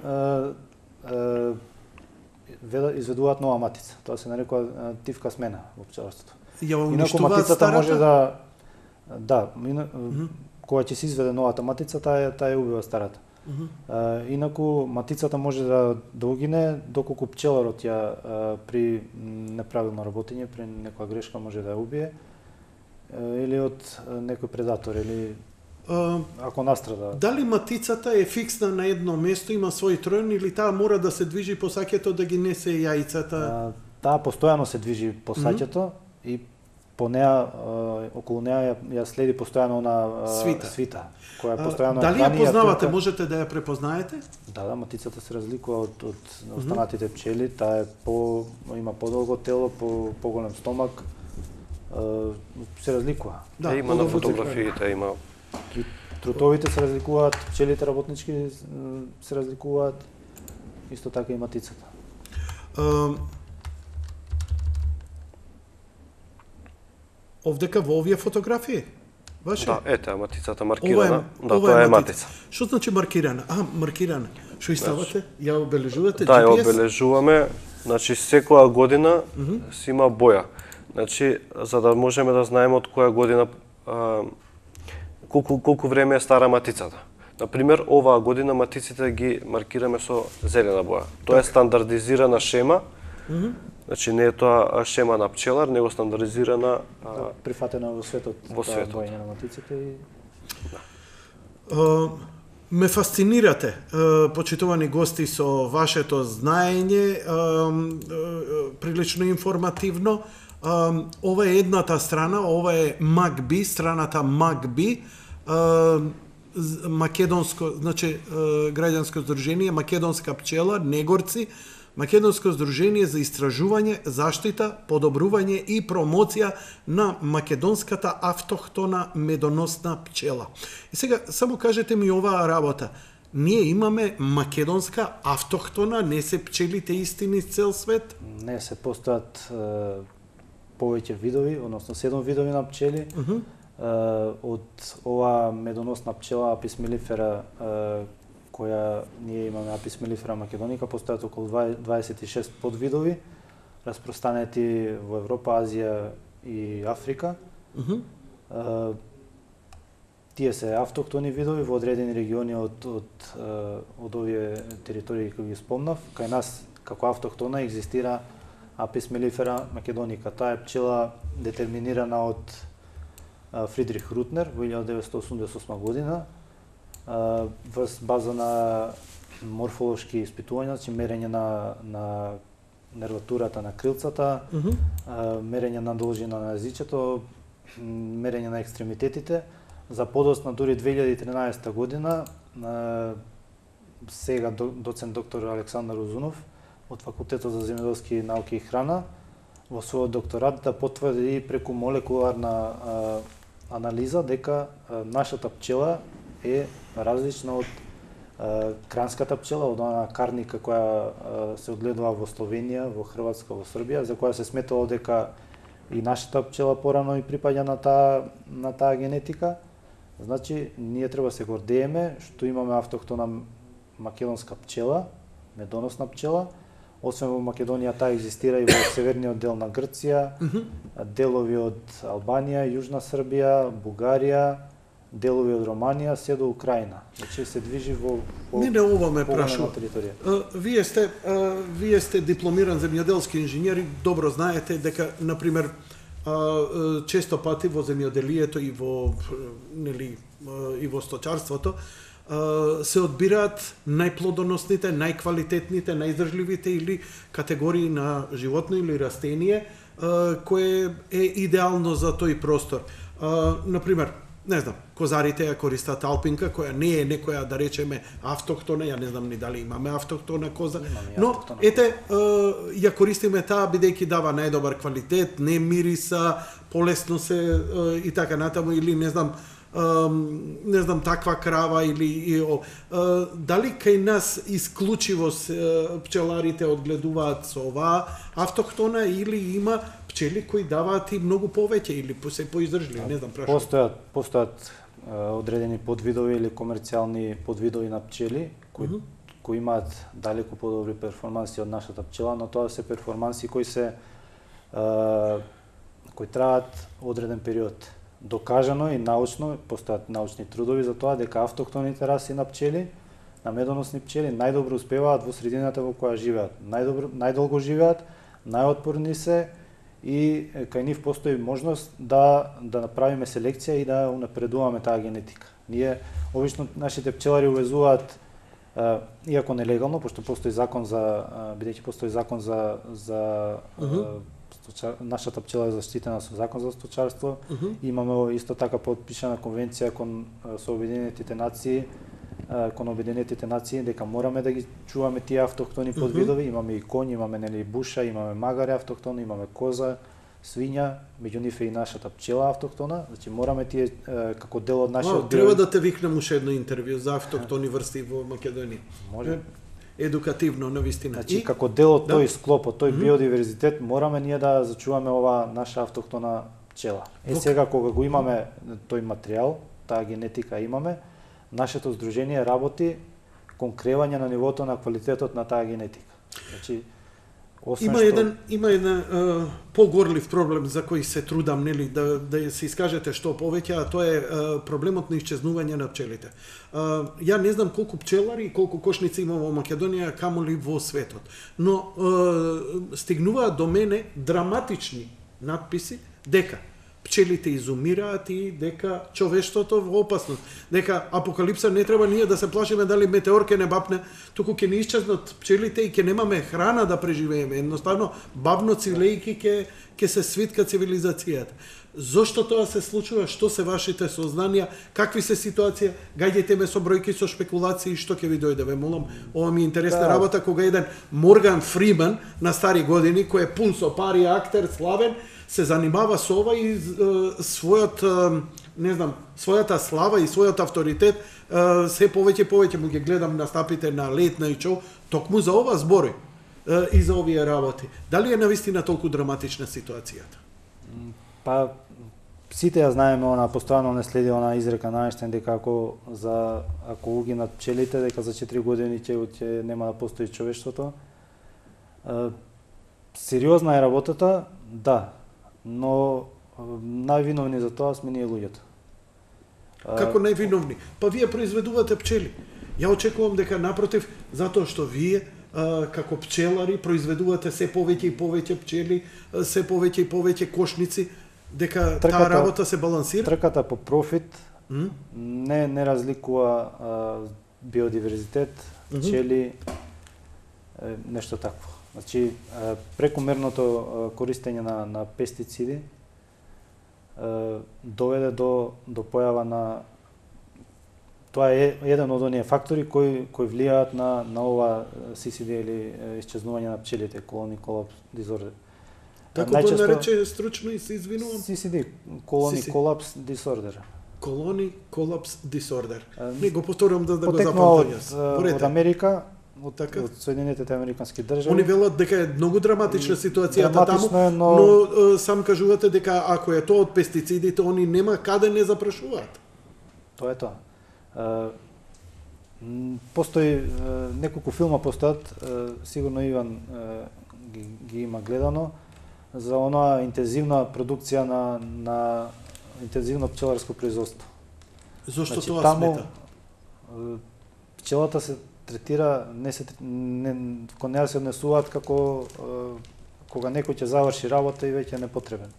изведуваат нова матица. Тоа се нарекува тивка смена во пчеларството. Ја Инаку уништуваат матицата старата? може кога ќе се изведе новата матица, таа ја убива старата. Инаку матицата може да угине доколку пчеларот ја при неправилно работење, при некоја грешка може да ја убие или од некој предатор или ако настрада. Дали матицата е фиксна на едно место, има свој троен или таа мора да се движи по саќето да ги несе јајцата? Таа постојано се движи по саќето и по неа околу неа ја следи постојано на свита, која постојано дали ја познавате, можете да ја препознаете? Да, матицата се разликува од останатите пчели, таа има подолго тело, поголем стомак, се разликува. Да, има на фотографиите, има. И трутовите се разликуваат, пчелите работнички се разликуваат, исто така и матицата. Овдека во овие фотографии? Ваше? Да, ете, матицата маркирана. Тоа е матица. Што значи маркирана? Маркирана. Што ставате? Ја обележувате? Да, ја обележуваме. Значи, секоја година си има боја. Значи, за да можеме да знаеме од која година колку време е стара матицата. Например, оваа година матиците ги маркираме со зелена боја. Тоа е стандардизирана шема. Значи не е тоа шема на пчелар, него стандардизирана прифатена во светот. Во светот. Бојање на матиците и ме фасцинирате, почитувани гости, со вашето знаење, прилично информативно. Ова е едната страна, ова е МАГБИ, страната МАГБИ, македонско, значи граѓанско здружение Македонска пчела, Негорци, Македонско здружение за истражување, заштита, подобрување и промоција на македонската автохтона медоносна пчела. И сега само кажете ми оваа работа. Ние имаме македонска автохтона, не се пчелите исти низ цел свет? Не, се постојат повеќе видови, односно 7 видови на пчели. Од ова медоносна пчела Апис мелифера, која ние имаме Апис мелифера македоника, постојат околу 26 подвидови, распространети во Европа, Азија и Африка. Тие се автохтони видови во одредени региони од овие територии кои ги спомнав. Кај нас како автохтона екзистира Апис мелифера македоника. Таа е пчела детерминирана од Фридрих Рутнер во 1988 година во база на морфолошки испитувања, значи мерење на нерватурата на крилцата, мерење на должина на езичето, мерење на екстремитетите. За подоцна дури 2013 година сега доцент доктор Александар Узунов од Факултетот за земјоделски науки и храна во својот докторат да потврди преку молекуларна анализа дека нашата пчела е различна од кранската пчела, од она карника која се одгледува во Словенија, во Хрватска, во Србија, за која се сметало дека и нашата пчела порано и припаѓа на таа генетика. Значи, ние треба се гордееме што имаме автохтона македонска пчела, медоносна пчела. Освен во Македонија, таа екзистира и во северниот дел на Грција, делови од Албанија, Јужна Србија, Бугарија, делови од Романија, се до Украина. Значи се движи во Мене ова ме прашува. Територија. Вие сте дипломиран земјоделски инженер и добро знаете дека, например, често пати во земјоделието и во сточарството се одбираат најплодоносните, најквалитетните, најиздржливите или категории на животно или растение кое е идеално за тој простор. Например, не знам, козарите ја користат алпинка, која не е некоја, да речеме, автохтона, ја не знам ни дали имаме автохтона коза, но ете, ја користиме таа бидејќи дава најдобар квалитет, не мириса, полесно се и така натаму, или не знам таква крава или дали кај нас исклучиво пчеларите одгледуваат со оваа автохтона или има пчели кои даваат и многу повеќе или се поиздржливи, не знам, прашувам. Постојат одредени подвидови или комерцијални подвидови на пчели кои имаат далеку подобри перформанси од нашата пчела, но тоа се перформанси кои се кои траат одреден период. Докажано и научно, постојат научни трудови за тоа дека автохтоните раси на пчели, на медоносни пчели најдобро успеваат во средината во која живеат. Најдолго живеат, најотпорни се и кај нив постои можност да направиме селекција и да унапредуваме таа генетика. Ние обично нашите пчелари увезуваат, иако нелегално, пошто постои закон за бидејќи постои закон за нашата пчела е заштитена со закон за сточарство. Имаме исто така подпишана конвенција со Обединетите нации, кон Обединетите нации дека мораме да ги чуваме тие автохтони подвидови. Имаме и коњи, имаме нели буша, имаме магаре автохтони, имаме коза, свиња, меѓу нив е и нашата пчела автохтона. Значи мораме тие како дел од нашиот треба да те викнем уште едно интервју за автохтони врсти во Македонија. Може. Едукативно, навистина. Значи, како дел од тој склоп, од тој биодиверзитет, мораме ние да зачуваме ова наша автохтона пчела. Сега кога го имаме тој материјал, таа генетика имаме, нашето здружение работи кон кревање на нивото на квалитетот на таа генетика. Значи, Има еден погорлив проблем за кој се трудам, нели, да се искажете што повеќе, а тоа е проблемот на исчезнување на пчелите. Ја не знам колку пчелари и колку кошници има во Македонија, камоли во светот, но стигнуваат до мене драматични надписи дека пчелите изумираат и дека човештвото во опасност, дека апокалипса не треба ние да се плашиме дали метеор ќе не бапне, туку ќе не исчезнат пчелите и ќе немаме храна да преживееме. Едноставно бавно цилејки ќе се свитка цивилизацијата. Зошто тоа се случува? Што се вашите сознанија? Какви се ситуација? Гаѓајте ме со бројки, со шпекулации, што ќе ви дојде, ве молам. Ова ми е интересна работа кога еден Морган Фриман на стари години, кој е пун со пари, актер, славен, се занимава со ова и својата слава и својот авторитет се повеќе му ги гледам настапите на Late Night Show, токму за ова збори и за овие работи. Дали е навистина толку драматична ситуацијата? Па сите ја знаеме, она постојано не следи она изрека на Ајнштајн дека ако угинат пчелите, дека за 4 години ќе нема да постои човештвото. Сериозна е работата, да, но највиновни за тоа сме ние луѓето. Како највиновни? Па вие произведувате пчели. Ја очекувам дека напротив, затоа што вие како пчелари произведувате се повеќе и повеќе пчели, се повеќе и повеќе кошници, дека таа работа се балансира? Трката по профит не разликува биодиверзитет, пчели, нешто такво. Значи, прекумерното користење на пестициди доведе до појава на... Тоа е еден од оние фактори кои влијаат на ова CCD или исчезнување на пчелите, colony collapse disorder. Како го нарече стручно и се извинувам? CCD, colony collapse disorder. Colony collapse disorder. Не го повторувам да го запомнам. Од Америка, од Соединетите американски држави. Они велат дека е многу драматична ситуацијата таму, но сам кажувате дека ако е тоа од пестицидите, они нема каде не запрашуваат. Тоа е тоа. Постои неколку филма постојат, сигурно Иван ги има гледано, за онаа интензивна продукција на интензивно пчеларско производство. Зошто тоа смета? Пчелата се третира, кон неа се однесуваат како кога некој ќе заврши работа и веќе е непотребен.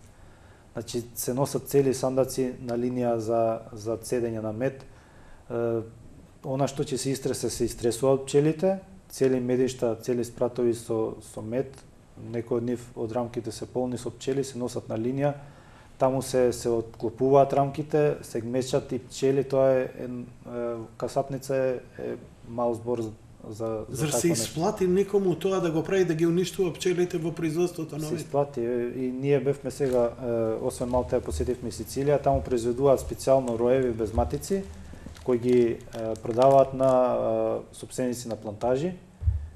Значи се носат цели сандаци на линија за цедење на мед. Она што ќе се истресе, се истресуваат пчелите, цели медишта, цели спратови со мед, некои од нив од рамките се полни со пчели, се носат на линија, таму се отклопуваат рамките, се мечат и пчели, тоа е касапница е мал збор за Зар се исплати некому тоа да го прави да ги уништува пчелите во производството на мед? Се исплати и ние бевме сега, освен Малта, посетивме Сицилија, таму произведуваат специјално роеви без матици, кои ги продаваат на сопственици на плантажи,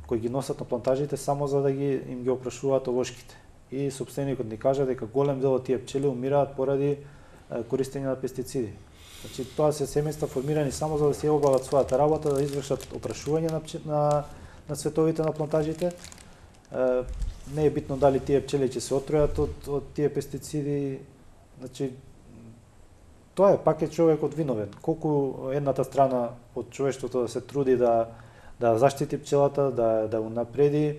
кои ги носат на плантажите само за да им ги опрашуваат овошките. И сопственикот ни кажа дека голем дел од тие пчели умираат поради користење на пестициди. Значи тоа се семејства формирани само за да се обават својата работа, да извршат опрашување на цветовите на плантажите. Не е битно дали тие пчели ќе се отројат од тие пестициди. Значи тоа е пак е човекот виновен. Колку едната страна од човештвото да се труди да заштити пчелата, да унапреди,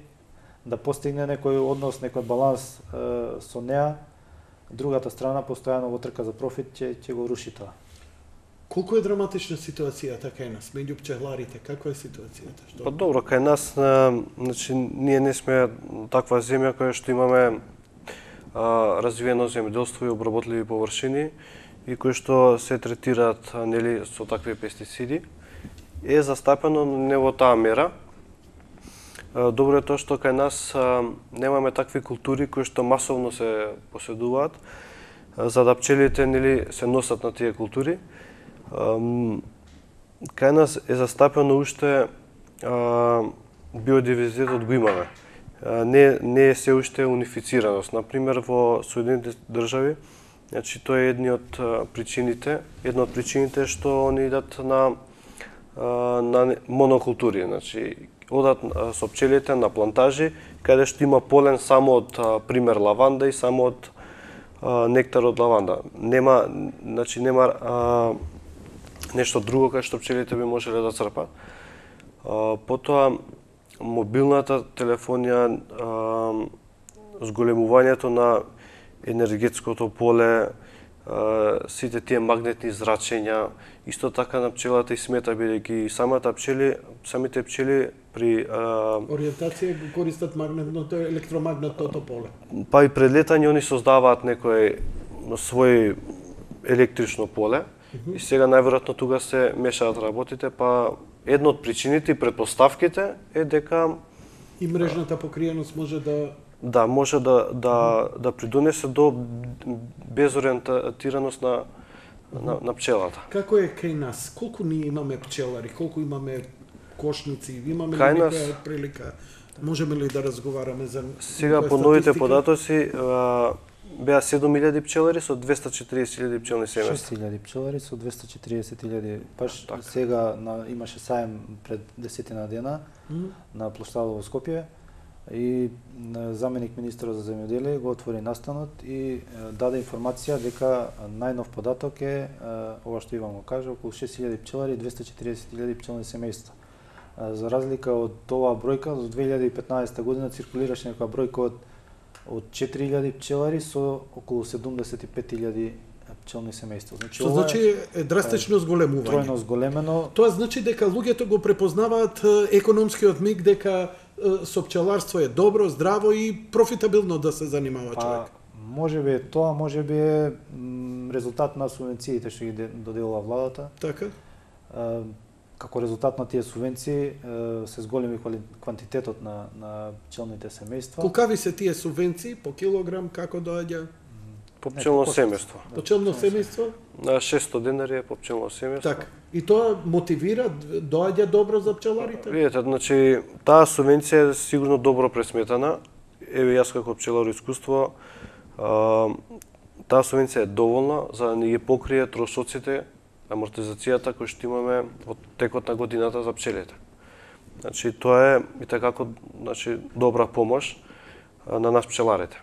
да постигне некој однос, некој баланс со неа, другата страна постојано во трка за профит ќе го руши тоа. Колку е драматична ситуацијата кај нас меѓу пчеларите? Каква е ситуацијата? Па добро, кај нас, значи, ние не сме таква земја која што имаме развиено земјоделство и обработливи површини и кои што се третираат нели со такви пестициди. Е застапено не во таа мера. Добро е тоа што кај нас немаме такви култури кои што масовно се поседуваат, за да пчелите нели се носат на тие култури. Кај нас е застапено уште биодиверзитетот го имаме. Не е се уште унифицираност. Например, во Соединетите држави, значи тоа е една од причините што они идат на монокултури, значи одат со пчелите на плантажи каде што има полен само од пример лаванда и само од нектар од лаванда. Нема нешто друго кај што пчелите би можеле да црпат. Потоа мобилната телефонија, зголемувањето на енергетското поле, сите тие магнетни зрачења, исто така на пчелата и смета, бидејќи самите пчели при ориентација го користат електромагнетното поле. Па и пред летање они создаваат некој свој електрично поле и сега најверојатно тука се мешаат работите, па една од причините и предпоставките е дека и мрежната покриеност може може да придонесе до безориентираност на пчелата. Како е кај нас? Колку ние имаме пчелари? Колку имаме кошници? Имаме ли некоја прилика? Можеме ли да разговараме за сега по новите податоци беа 7000 пчелари со 240.000 пчелни семејства. 6000 пчелари со 240.000. Баш сега имаше саем пред 10 дена на плоштадот во Скопје и заменик министерот за земјоделие го отвори настанот и даде информација дека најнов податок е ова што Иван го кажа, околу 6000 пчелари и 240.000 пчелни семејства. За разлика од оваа бројка, до 2015 година циркулираше некоја бројка од 4000 пчелари со околу 75.000 пчелни семејства. Значи, што значи е драстично зголемување. Тројно зголемено. Тоа значи дека луѓето го препознаваат економскиот миг дека со пчеларство е добро, здраво и профитабилно да се занимава човек. Можеби е тоа, можеби е резултат на субвенциите што ги доделува владата. Така. Како резултат на тие субвенции се зголеми квантитетот на пчелните семејства. Колкави се тие субвенции по килограм, како доаѓа? По пчелно семејство. По пчелно семејство? На 600 денари е по пчелно семејство. Така. И тоа мотивира, доаѓа добро за пчеларите? Видете, значи таа субвенција е сигурно добро пресметана. Еве јас како пчеларо искуство, таа субвенција е доволна за да ни ги покрие трошоците, амортизацијата кој што имаме во текот на годината за пчелите. Значи тоа е и такако, значи добра помош на нас пчеларите.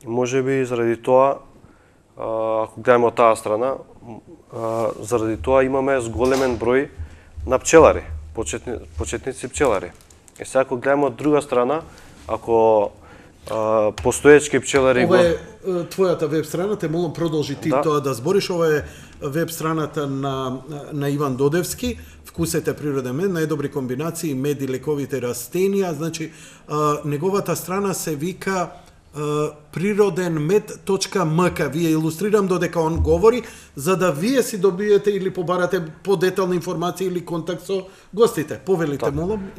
Можеби заради тоа, ако гледаме од таа страна, заради тоа имаме зголемен број на пчелари, почетници пчелари. И сега ако гледаме од друга страна, ако постоечки пчелари... Ова е твојата веб страна, те молам продолжи ти тоа да збориш. Ова е веб страната на Иван Додевски, Вкусете природен мед, најдобри комбинации, мед и лековите растенија. Значи, неговата страна се вика prirodenmed.mk. Вие илустрирам додека он говори, за да вие си добиете или побарате подетална информација или контакт со гостите. Повелите, молам.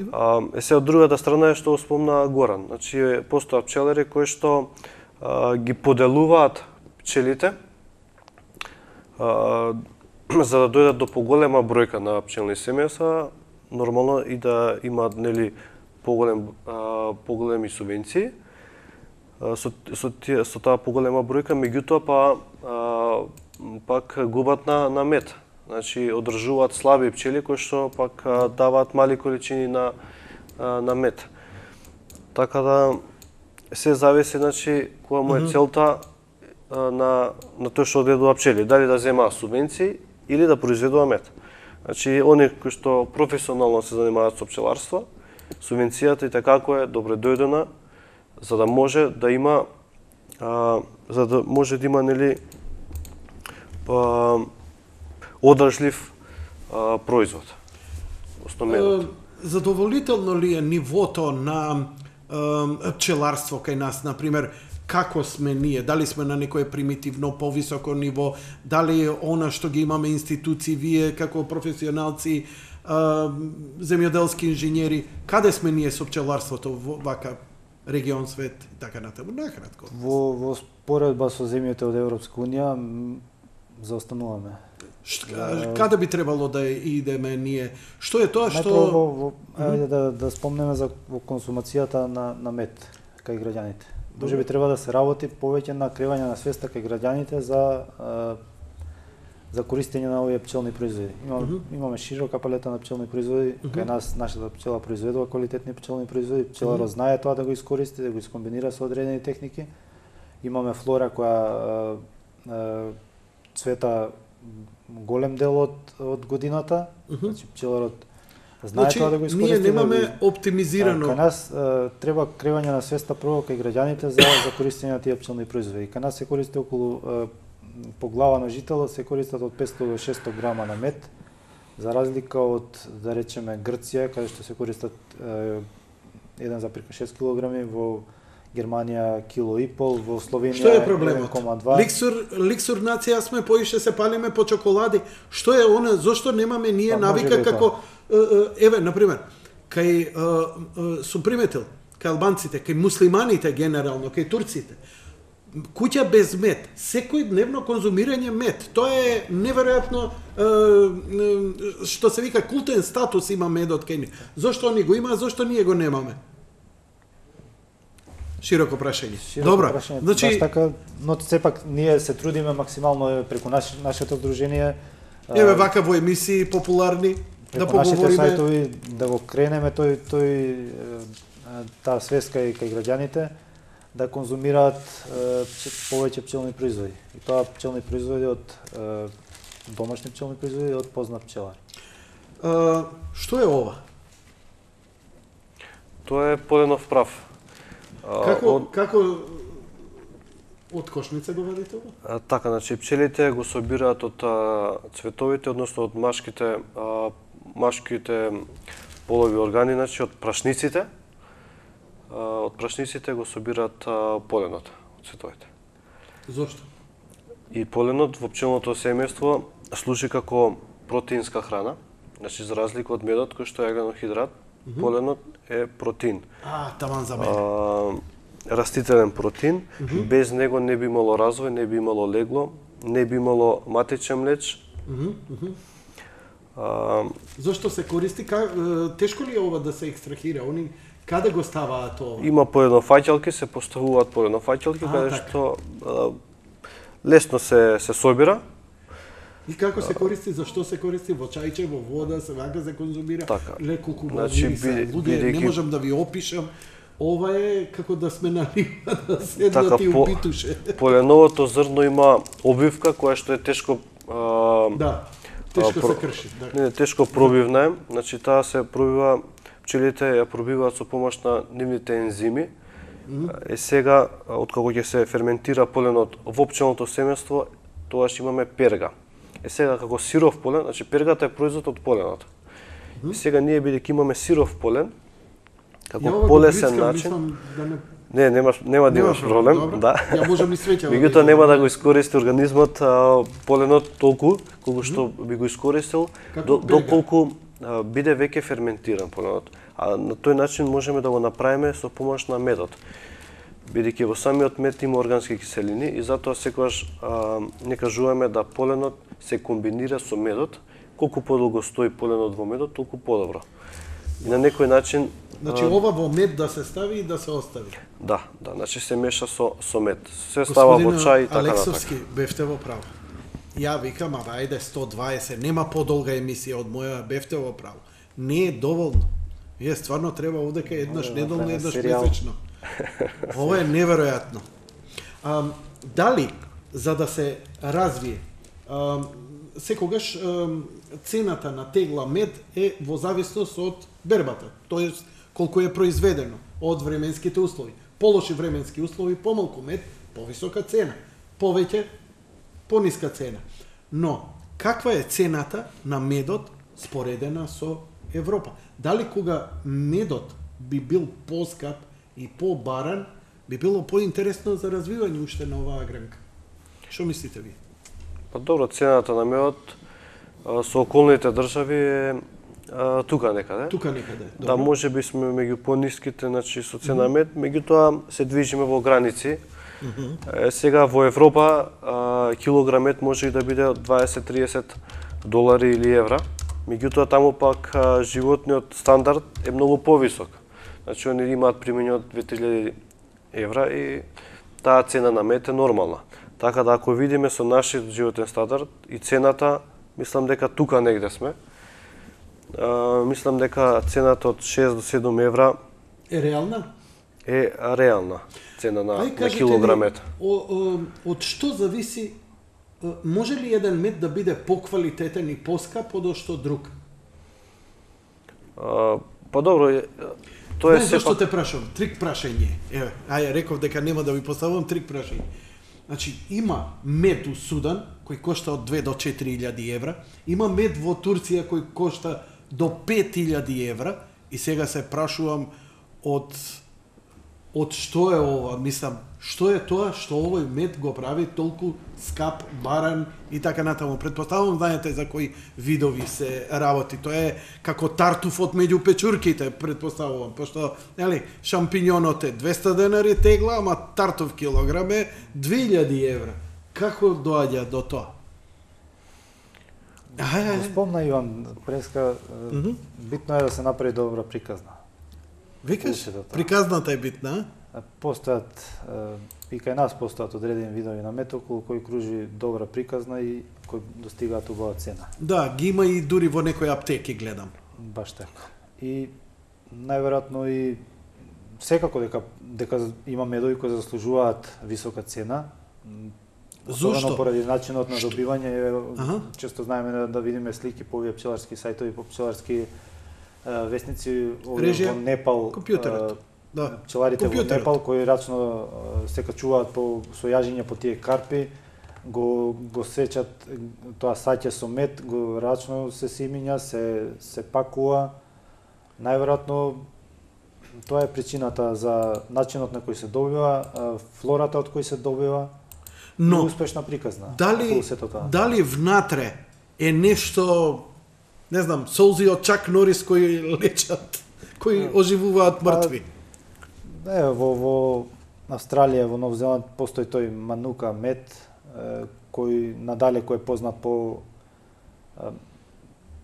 Се од другата страна е што спомна Горан. Значи, постојат пчелари кои што ги поделуваат пчелите за да дојдат до поголема бројка на пчелни семејства, нормално и да имаат нели поголеми субвенции. Со таа поголема бројка, меѓутоа пак губат на мед. значи одржуваат слаби пчели кои што пак даваат мали количини на мед. Така да се зависи, значи, која му е целта на тој што одгледува пчели, дали да земаа субвенции или да произведува мед. Значи, оние кои што професионално се занимаваат со пчеларство, субвенцијата и такако е добре дојдена, за да може да има нели одржлив производ. Задоволително ли е нивото на пчеларство кај нас, например, како сме ние, дали сме на некое примитивно повисоко ниво, дали она што ги имаме институции, вие како професионалци, земјоделски инженери, каде сме ние со пчеларството во вака регион, свет и така натаму, накратко? Во споредба со земјите од Европска унија заостануваме. Каде би требало да идеме ние? Што е тоа што... Ајде да спомнеме за консумацијата на мед кај граѓаните. Може би треба да се работи повеќе на креирање на свеста кај граѓаните за користење на овие пчелни производи. Имаме широка палета на пчелни производи, кај нас нашата пчела произведува квалитетни пчелни производи, пчеларот знае тоа да го искористи, да го искомбинира со одредени техники. Имаме флора која цвета голем дел од годината, значи пчеларот знае тоа да го искористи. Ние немаме оптимизирано. Кај нас треба креирање на свеста прво кај граѓаните за користење на тие пчелни производи. Кај нас се користи околу по глава на жител се користат од 500 до 600 грама на мед, за разлика од, да речеме, Грција, каде што се користат 1,6 килограми, во Германија кило и пол, во Словенија 1,2. Што е проблемот? Ликсур нација сме, поише се палиме по чоколади. Што е она, зошто немаме ние навика како еве, например, кај сум приметил, кај албанците, кај муслиманите генерално, кај турците, куќа без мед, секој дневно конзумирање мед, тоа е неверојатно, што се вика култен статус има медот кај ни. Зошто они го има, зошто ние го немаме? Широко прашање. Добро, значи баш така, но сепак ние се трудиме максимално преку нашето здружение. Еве вака во емисии популарни да поговориме. Нашите сајтови да го кренеме таа свеска и кај граѓаните да конзумираат повеќе пчелни производи. И тоа пчелни производи од домашни пчелни производи од познат пчелар. Што е ова? Тоа е поленов прав. Како од кошница го вадите ова? Така, значи пчелите го собираат од цветовите, односно од машките полови органи, значи од прашниците. Од прашниците го собираат поленот од цветовите. Зошто? И поленот во пчелното семејство служи како протеинска храна, значи за разлика од медот кој што е агленохидрат, поленот е протеин. Таман за мене. Растителен протеин, без него не би имало развој, не би имало легло, не би имало матечен млеч. Зошто се користи? Тешко ли е ова да се екстрахира? Они каде го ставаат ова? Има поленофаќалки, се поставуваат поленофаќалки, каде што лесно се собира. И како се користи, зашто се користи? Во чајче, во вода, се вака се конзумира? Така. Леко кубавири луѓе, не можам да ви опишам. Ова е како да сме на риба, да седнат и упитуше. Поленовото зрно има обвивка која што е тешко тешко се крши. Не, тешко пробивна е. Значи таа се пробива, пчелите ја пробиваат со помош на нивните ензими. Сега, откако ќе се ферментира поленот во пчелното семејство, тогаш имаме перга. Сега како сиров полен, значи пергата е производ од поленот. И сега ние бидејќи имаме сиров полен, како полесен начин. Нема да имаш проблем, да. Ја можам и свеќа. Меѓутоа нема да го искористи организмот поленот толку колку што би го искористил доколку биде веќе ферментиран поленот. А на тој начин можеме да го направиме со помош на медот. Бидејќи во самиот мед има органски киселини и затоа секогаш не кажуваме да поленот се комбинира со медот. Колку подолго стои поленот во медот, толку подобро. И на некој начин значи ова во мед да се стави и да се остави. Да, значи се меша со мед. Се става во чај и така натака. Алексовски, бевте во право. ја викам, ајде 120, нема подолга емисија од моја, бевте во право. Не е доволно. Вие стварно треба овдека еднаш неделно, еднаш месечно. Ова е неверојатно. Дали, за да се развие, секогаш цената на тегла мед е во зависност од бербата, тоест колку е произведено, од временските услови. Полоши временски услови, помалку мед, повисока цена. Повеќе, пониска цена. Но, каква е цената на медот споредена со Европа? Дали кога медот би бил поскап и побаран, би било поинтересно за развивање уште на оваа гранка? Што мислите ви? Па добро, цената на медот со околните држави е тука некаде. Тука некаде. Да, може би сме меѓу пониските, значи со цена мед, меѓутоа се движиме во граници. Сега во Европа килограм мед може и да биде од 20-30 долари или евра. Меѓутоа таму пак животниот стандард е многу повисок. Значи они имаат примање од 2000 евра и таа цена на мед е нормална. Така да ако видиме со нашиот животен стандард и цената, мислам дека тука негде сме. Мислам дека цената од 6 до 7 евра е реална? Е реална цена на килограм мед. Од што зависи, може ли еден мед да биде поквалитетен и поскап од што друг? Па добро, тоа е сепак... Зашто те прашувам? Трик прашање. Еве, реков дека нема да ви поставувам трик прашање. Значи, има мед у Судан, кој кошта од 2 до 4.000 евра, има мед во Турција кој кошта до 5.000 евра, и сега се прашувам од што е ова, мислам, што е тоа што овој мед го прави толку скап, баран и така натаму. Предпоставувам, знаете за кои видови се работи. Тоа е како тартуфот меѓу печурките, предпоставувам, пошто, нели, шампиньонот е 200 денари тегла, ама тартуф килограм е 2000 евра. Како доаѓа до тоа? Спомна Иван Преска, битно е да се направи добра приказна. Викаш? Приказната е битна? Постојат, и кај нас постојат одредени видови на мед околу кои кружи добра приказна и кои достигаат убава цена. Да, ги има и дури во некои аптеки, гледам. Баш така. И најверојатно и секако дека има медови кои заслужуваат висока цена. Зошто? Поради начинот на добивање, често знаеме да видиме слики по овие пчеларски сајтови, по пчеларски весници во Непал, компјутерот. Да. Пчеларите во Непал кои рачно се качуваат со јажиња по тие карпи, го сечат тоа саќе со мед, го рачно се симиња, се пакува. Најверојатно тоа е причината за начинот на кој се добива, флората од кој се добива. Но успешна приказна. Дали внатре е нешто, не знам, солзи од Чак Норис кои лечат, кои оживуваат мртви? Во Австралија, во Нов Зеланд постои тој манука мед, кој надалеко е познат по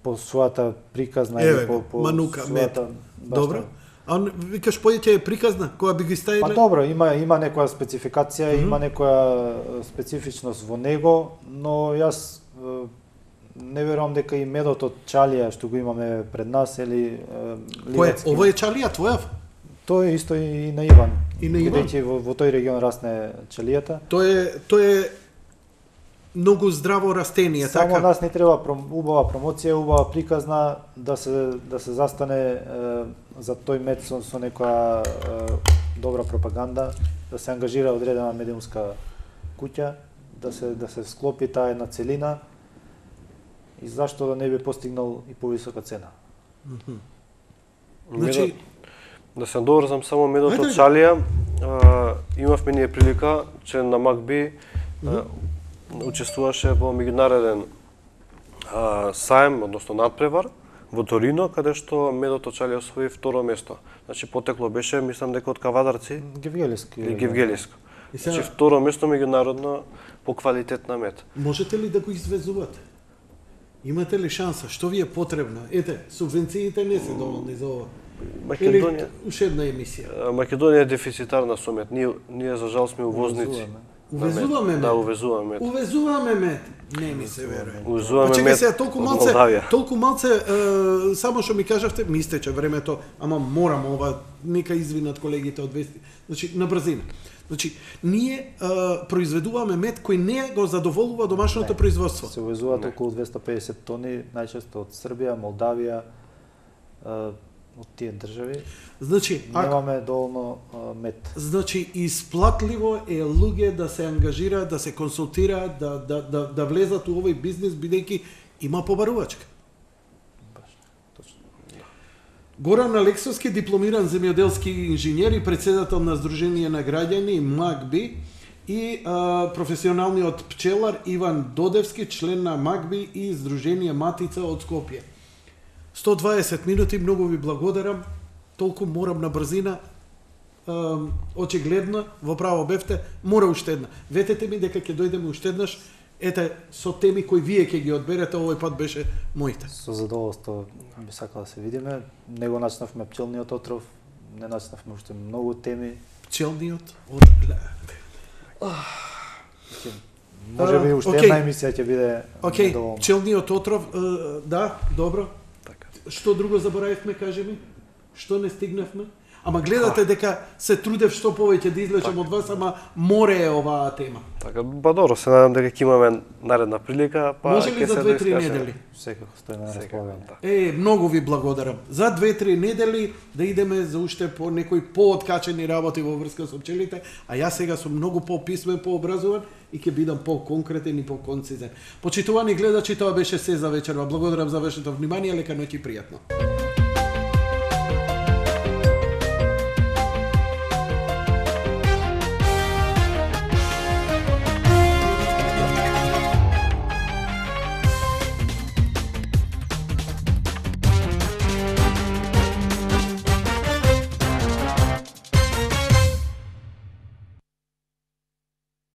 својата приказна или по манука мед. Добро. А викаш поеќе е приказна, која би ги ставиле? Па добро, има некоја спецификација, има некоја специфичност во него, но јас не верувам дека и медот од чалија што го имаме пред нас или ливадски. Ова е чалија твоја? Тоа е исто и на Иван. И на Иван? Бидејќи во тој регион расне чалијата. Тоа е многу здраво растение, само така? Само нас не треба убава промоција, убава приказна да се застане за тој мед со некоја добра пропаганда, да се ангажира одредена медиумска куќа, да се склопи таа една целина и зашто да не би постигнал и повисока цена. Значи, да се доврзам само медот од чалија, имавме ние прилика, че на МакБи учествуваше во меѓународен саем, односно надпревар, во Торино, каде што медот од чалија освои второ место. Значи потекло беше, мислам дека од Кавадарци или Гевгелиско. Значи второ место меѓународно по квалитет на мед. Можете ли да го извезувате? Имате ли шанса? Што ви е потребно? Ете, субвенциите не се доволни за ова. Македонија. Уште една емисија. Македонија е дефицитарна со мед. Ние за жал сме увозници. Увезуваме мед. Да, увезуваме мед. Увезуваме мед. Не ми се верува. Увезуваме Чекај мед сега, од Молдавија. толку малце, само што ми кажавте, ми истече времето, ама морам ова, нека извинат колегите од Вести. Значи, на брзина. Значи, ние произведуваме мед кој не го задоволува домашното производство. Се увезуваат околу 250 тони, најчесто од Србија, Молдавија, од тие држави. Значи, Немаме доволно мед. Значи, исплатливо е луѓе да се ангажираат, да се консултираат, да влезат у овој бизнис, бидејќи има побарувачка. Баш, точно. Горан Алексовски, дипломиран земјоделски инженер и председател на Сдружение на граѓани МАГБИ и професионалниот пчелар Иван Додевски, член на МАГБИ и Сдружение Матица од Скопје. 120 минути, многу ви благодарам. Толку морам на брзина. Очигледно, во право бевте, мора уште една. Ветете ми дека ќе дојдеме уште еднаш. Ете, со теми кои вие ќе ги одберете, овој пат беше моите. Со задоволство би сакал да се видиме. Не го начнавме пчелниот отров, не начнавме уште многу теми. Пчелниот отров. Може би уште една емисија ќе биде недоволна. Пчелниот отров, да, добро. Така. Што друго заборавивме, кажи ми? Што не стигнавме? Ама гледате дека се трудев што повеќе да излечам од вас, ама море е оваа тема. Така, ба добро, се надам дека ќе имаме наредна прилика, па може ли за 2-3 недели? Секако стои на располагање. Многу ви благодарам. За 2-3 недели да идеме за уште по некои пооткачени работи во врска со пчелите, а јас сега сум многу пописмен, пообразован и ќе бидам поконкретен и поконцизен. Почитувани гледачи, тоа беше се за вечерва. Благодарам за вашето внимание, лека ноќ и пријатно.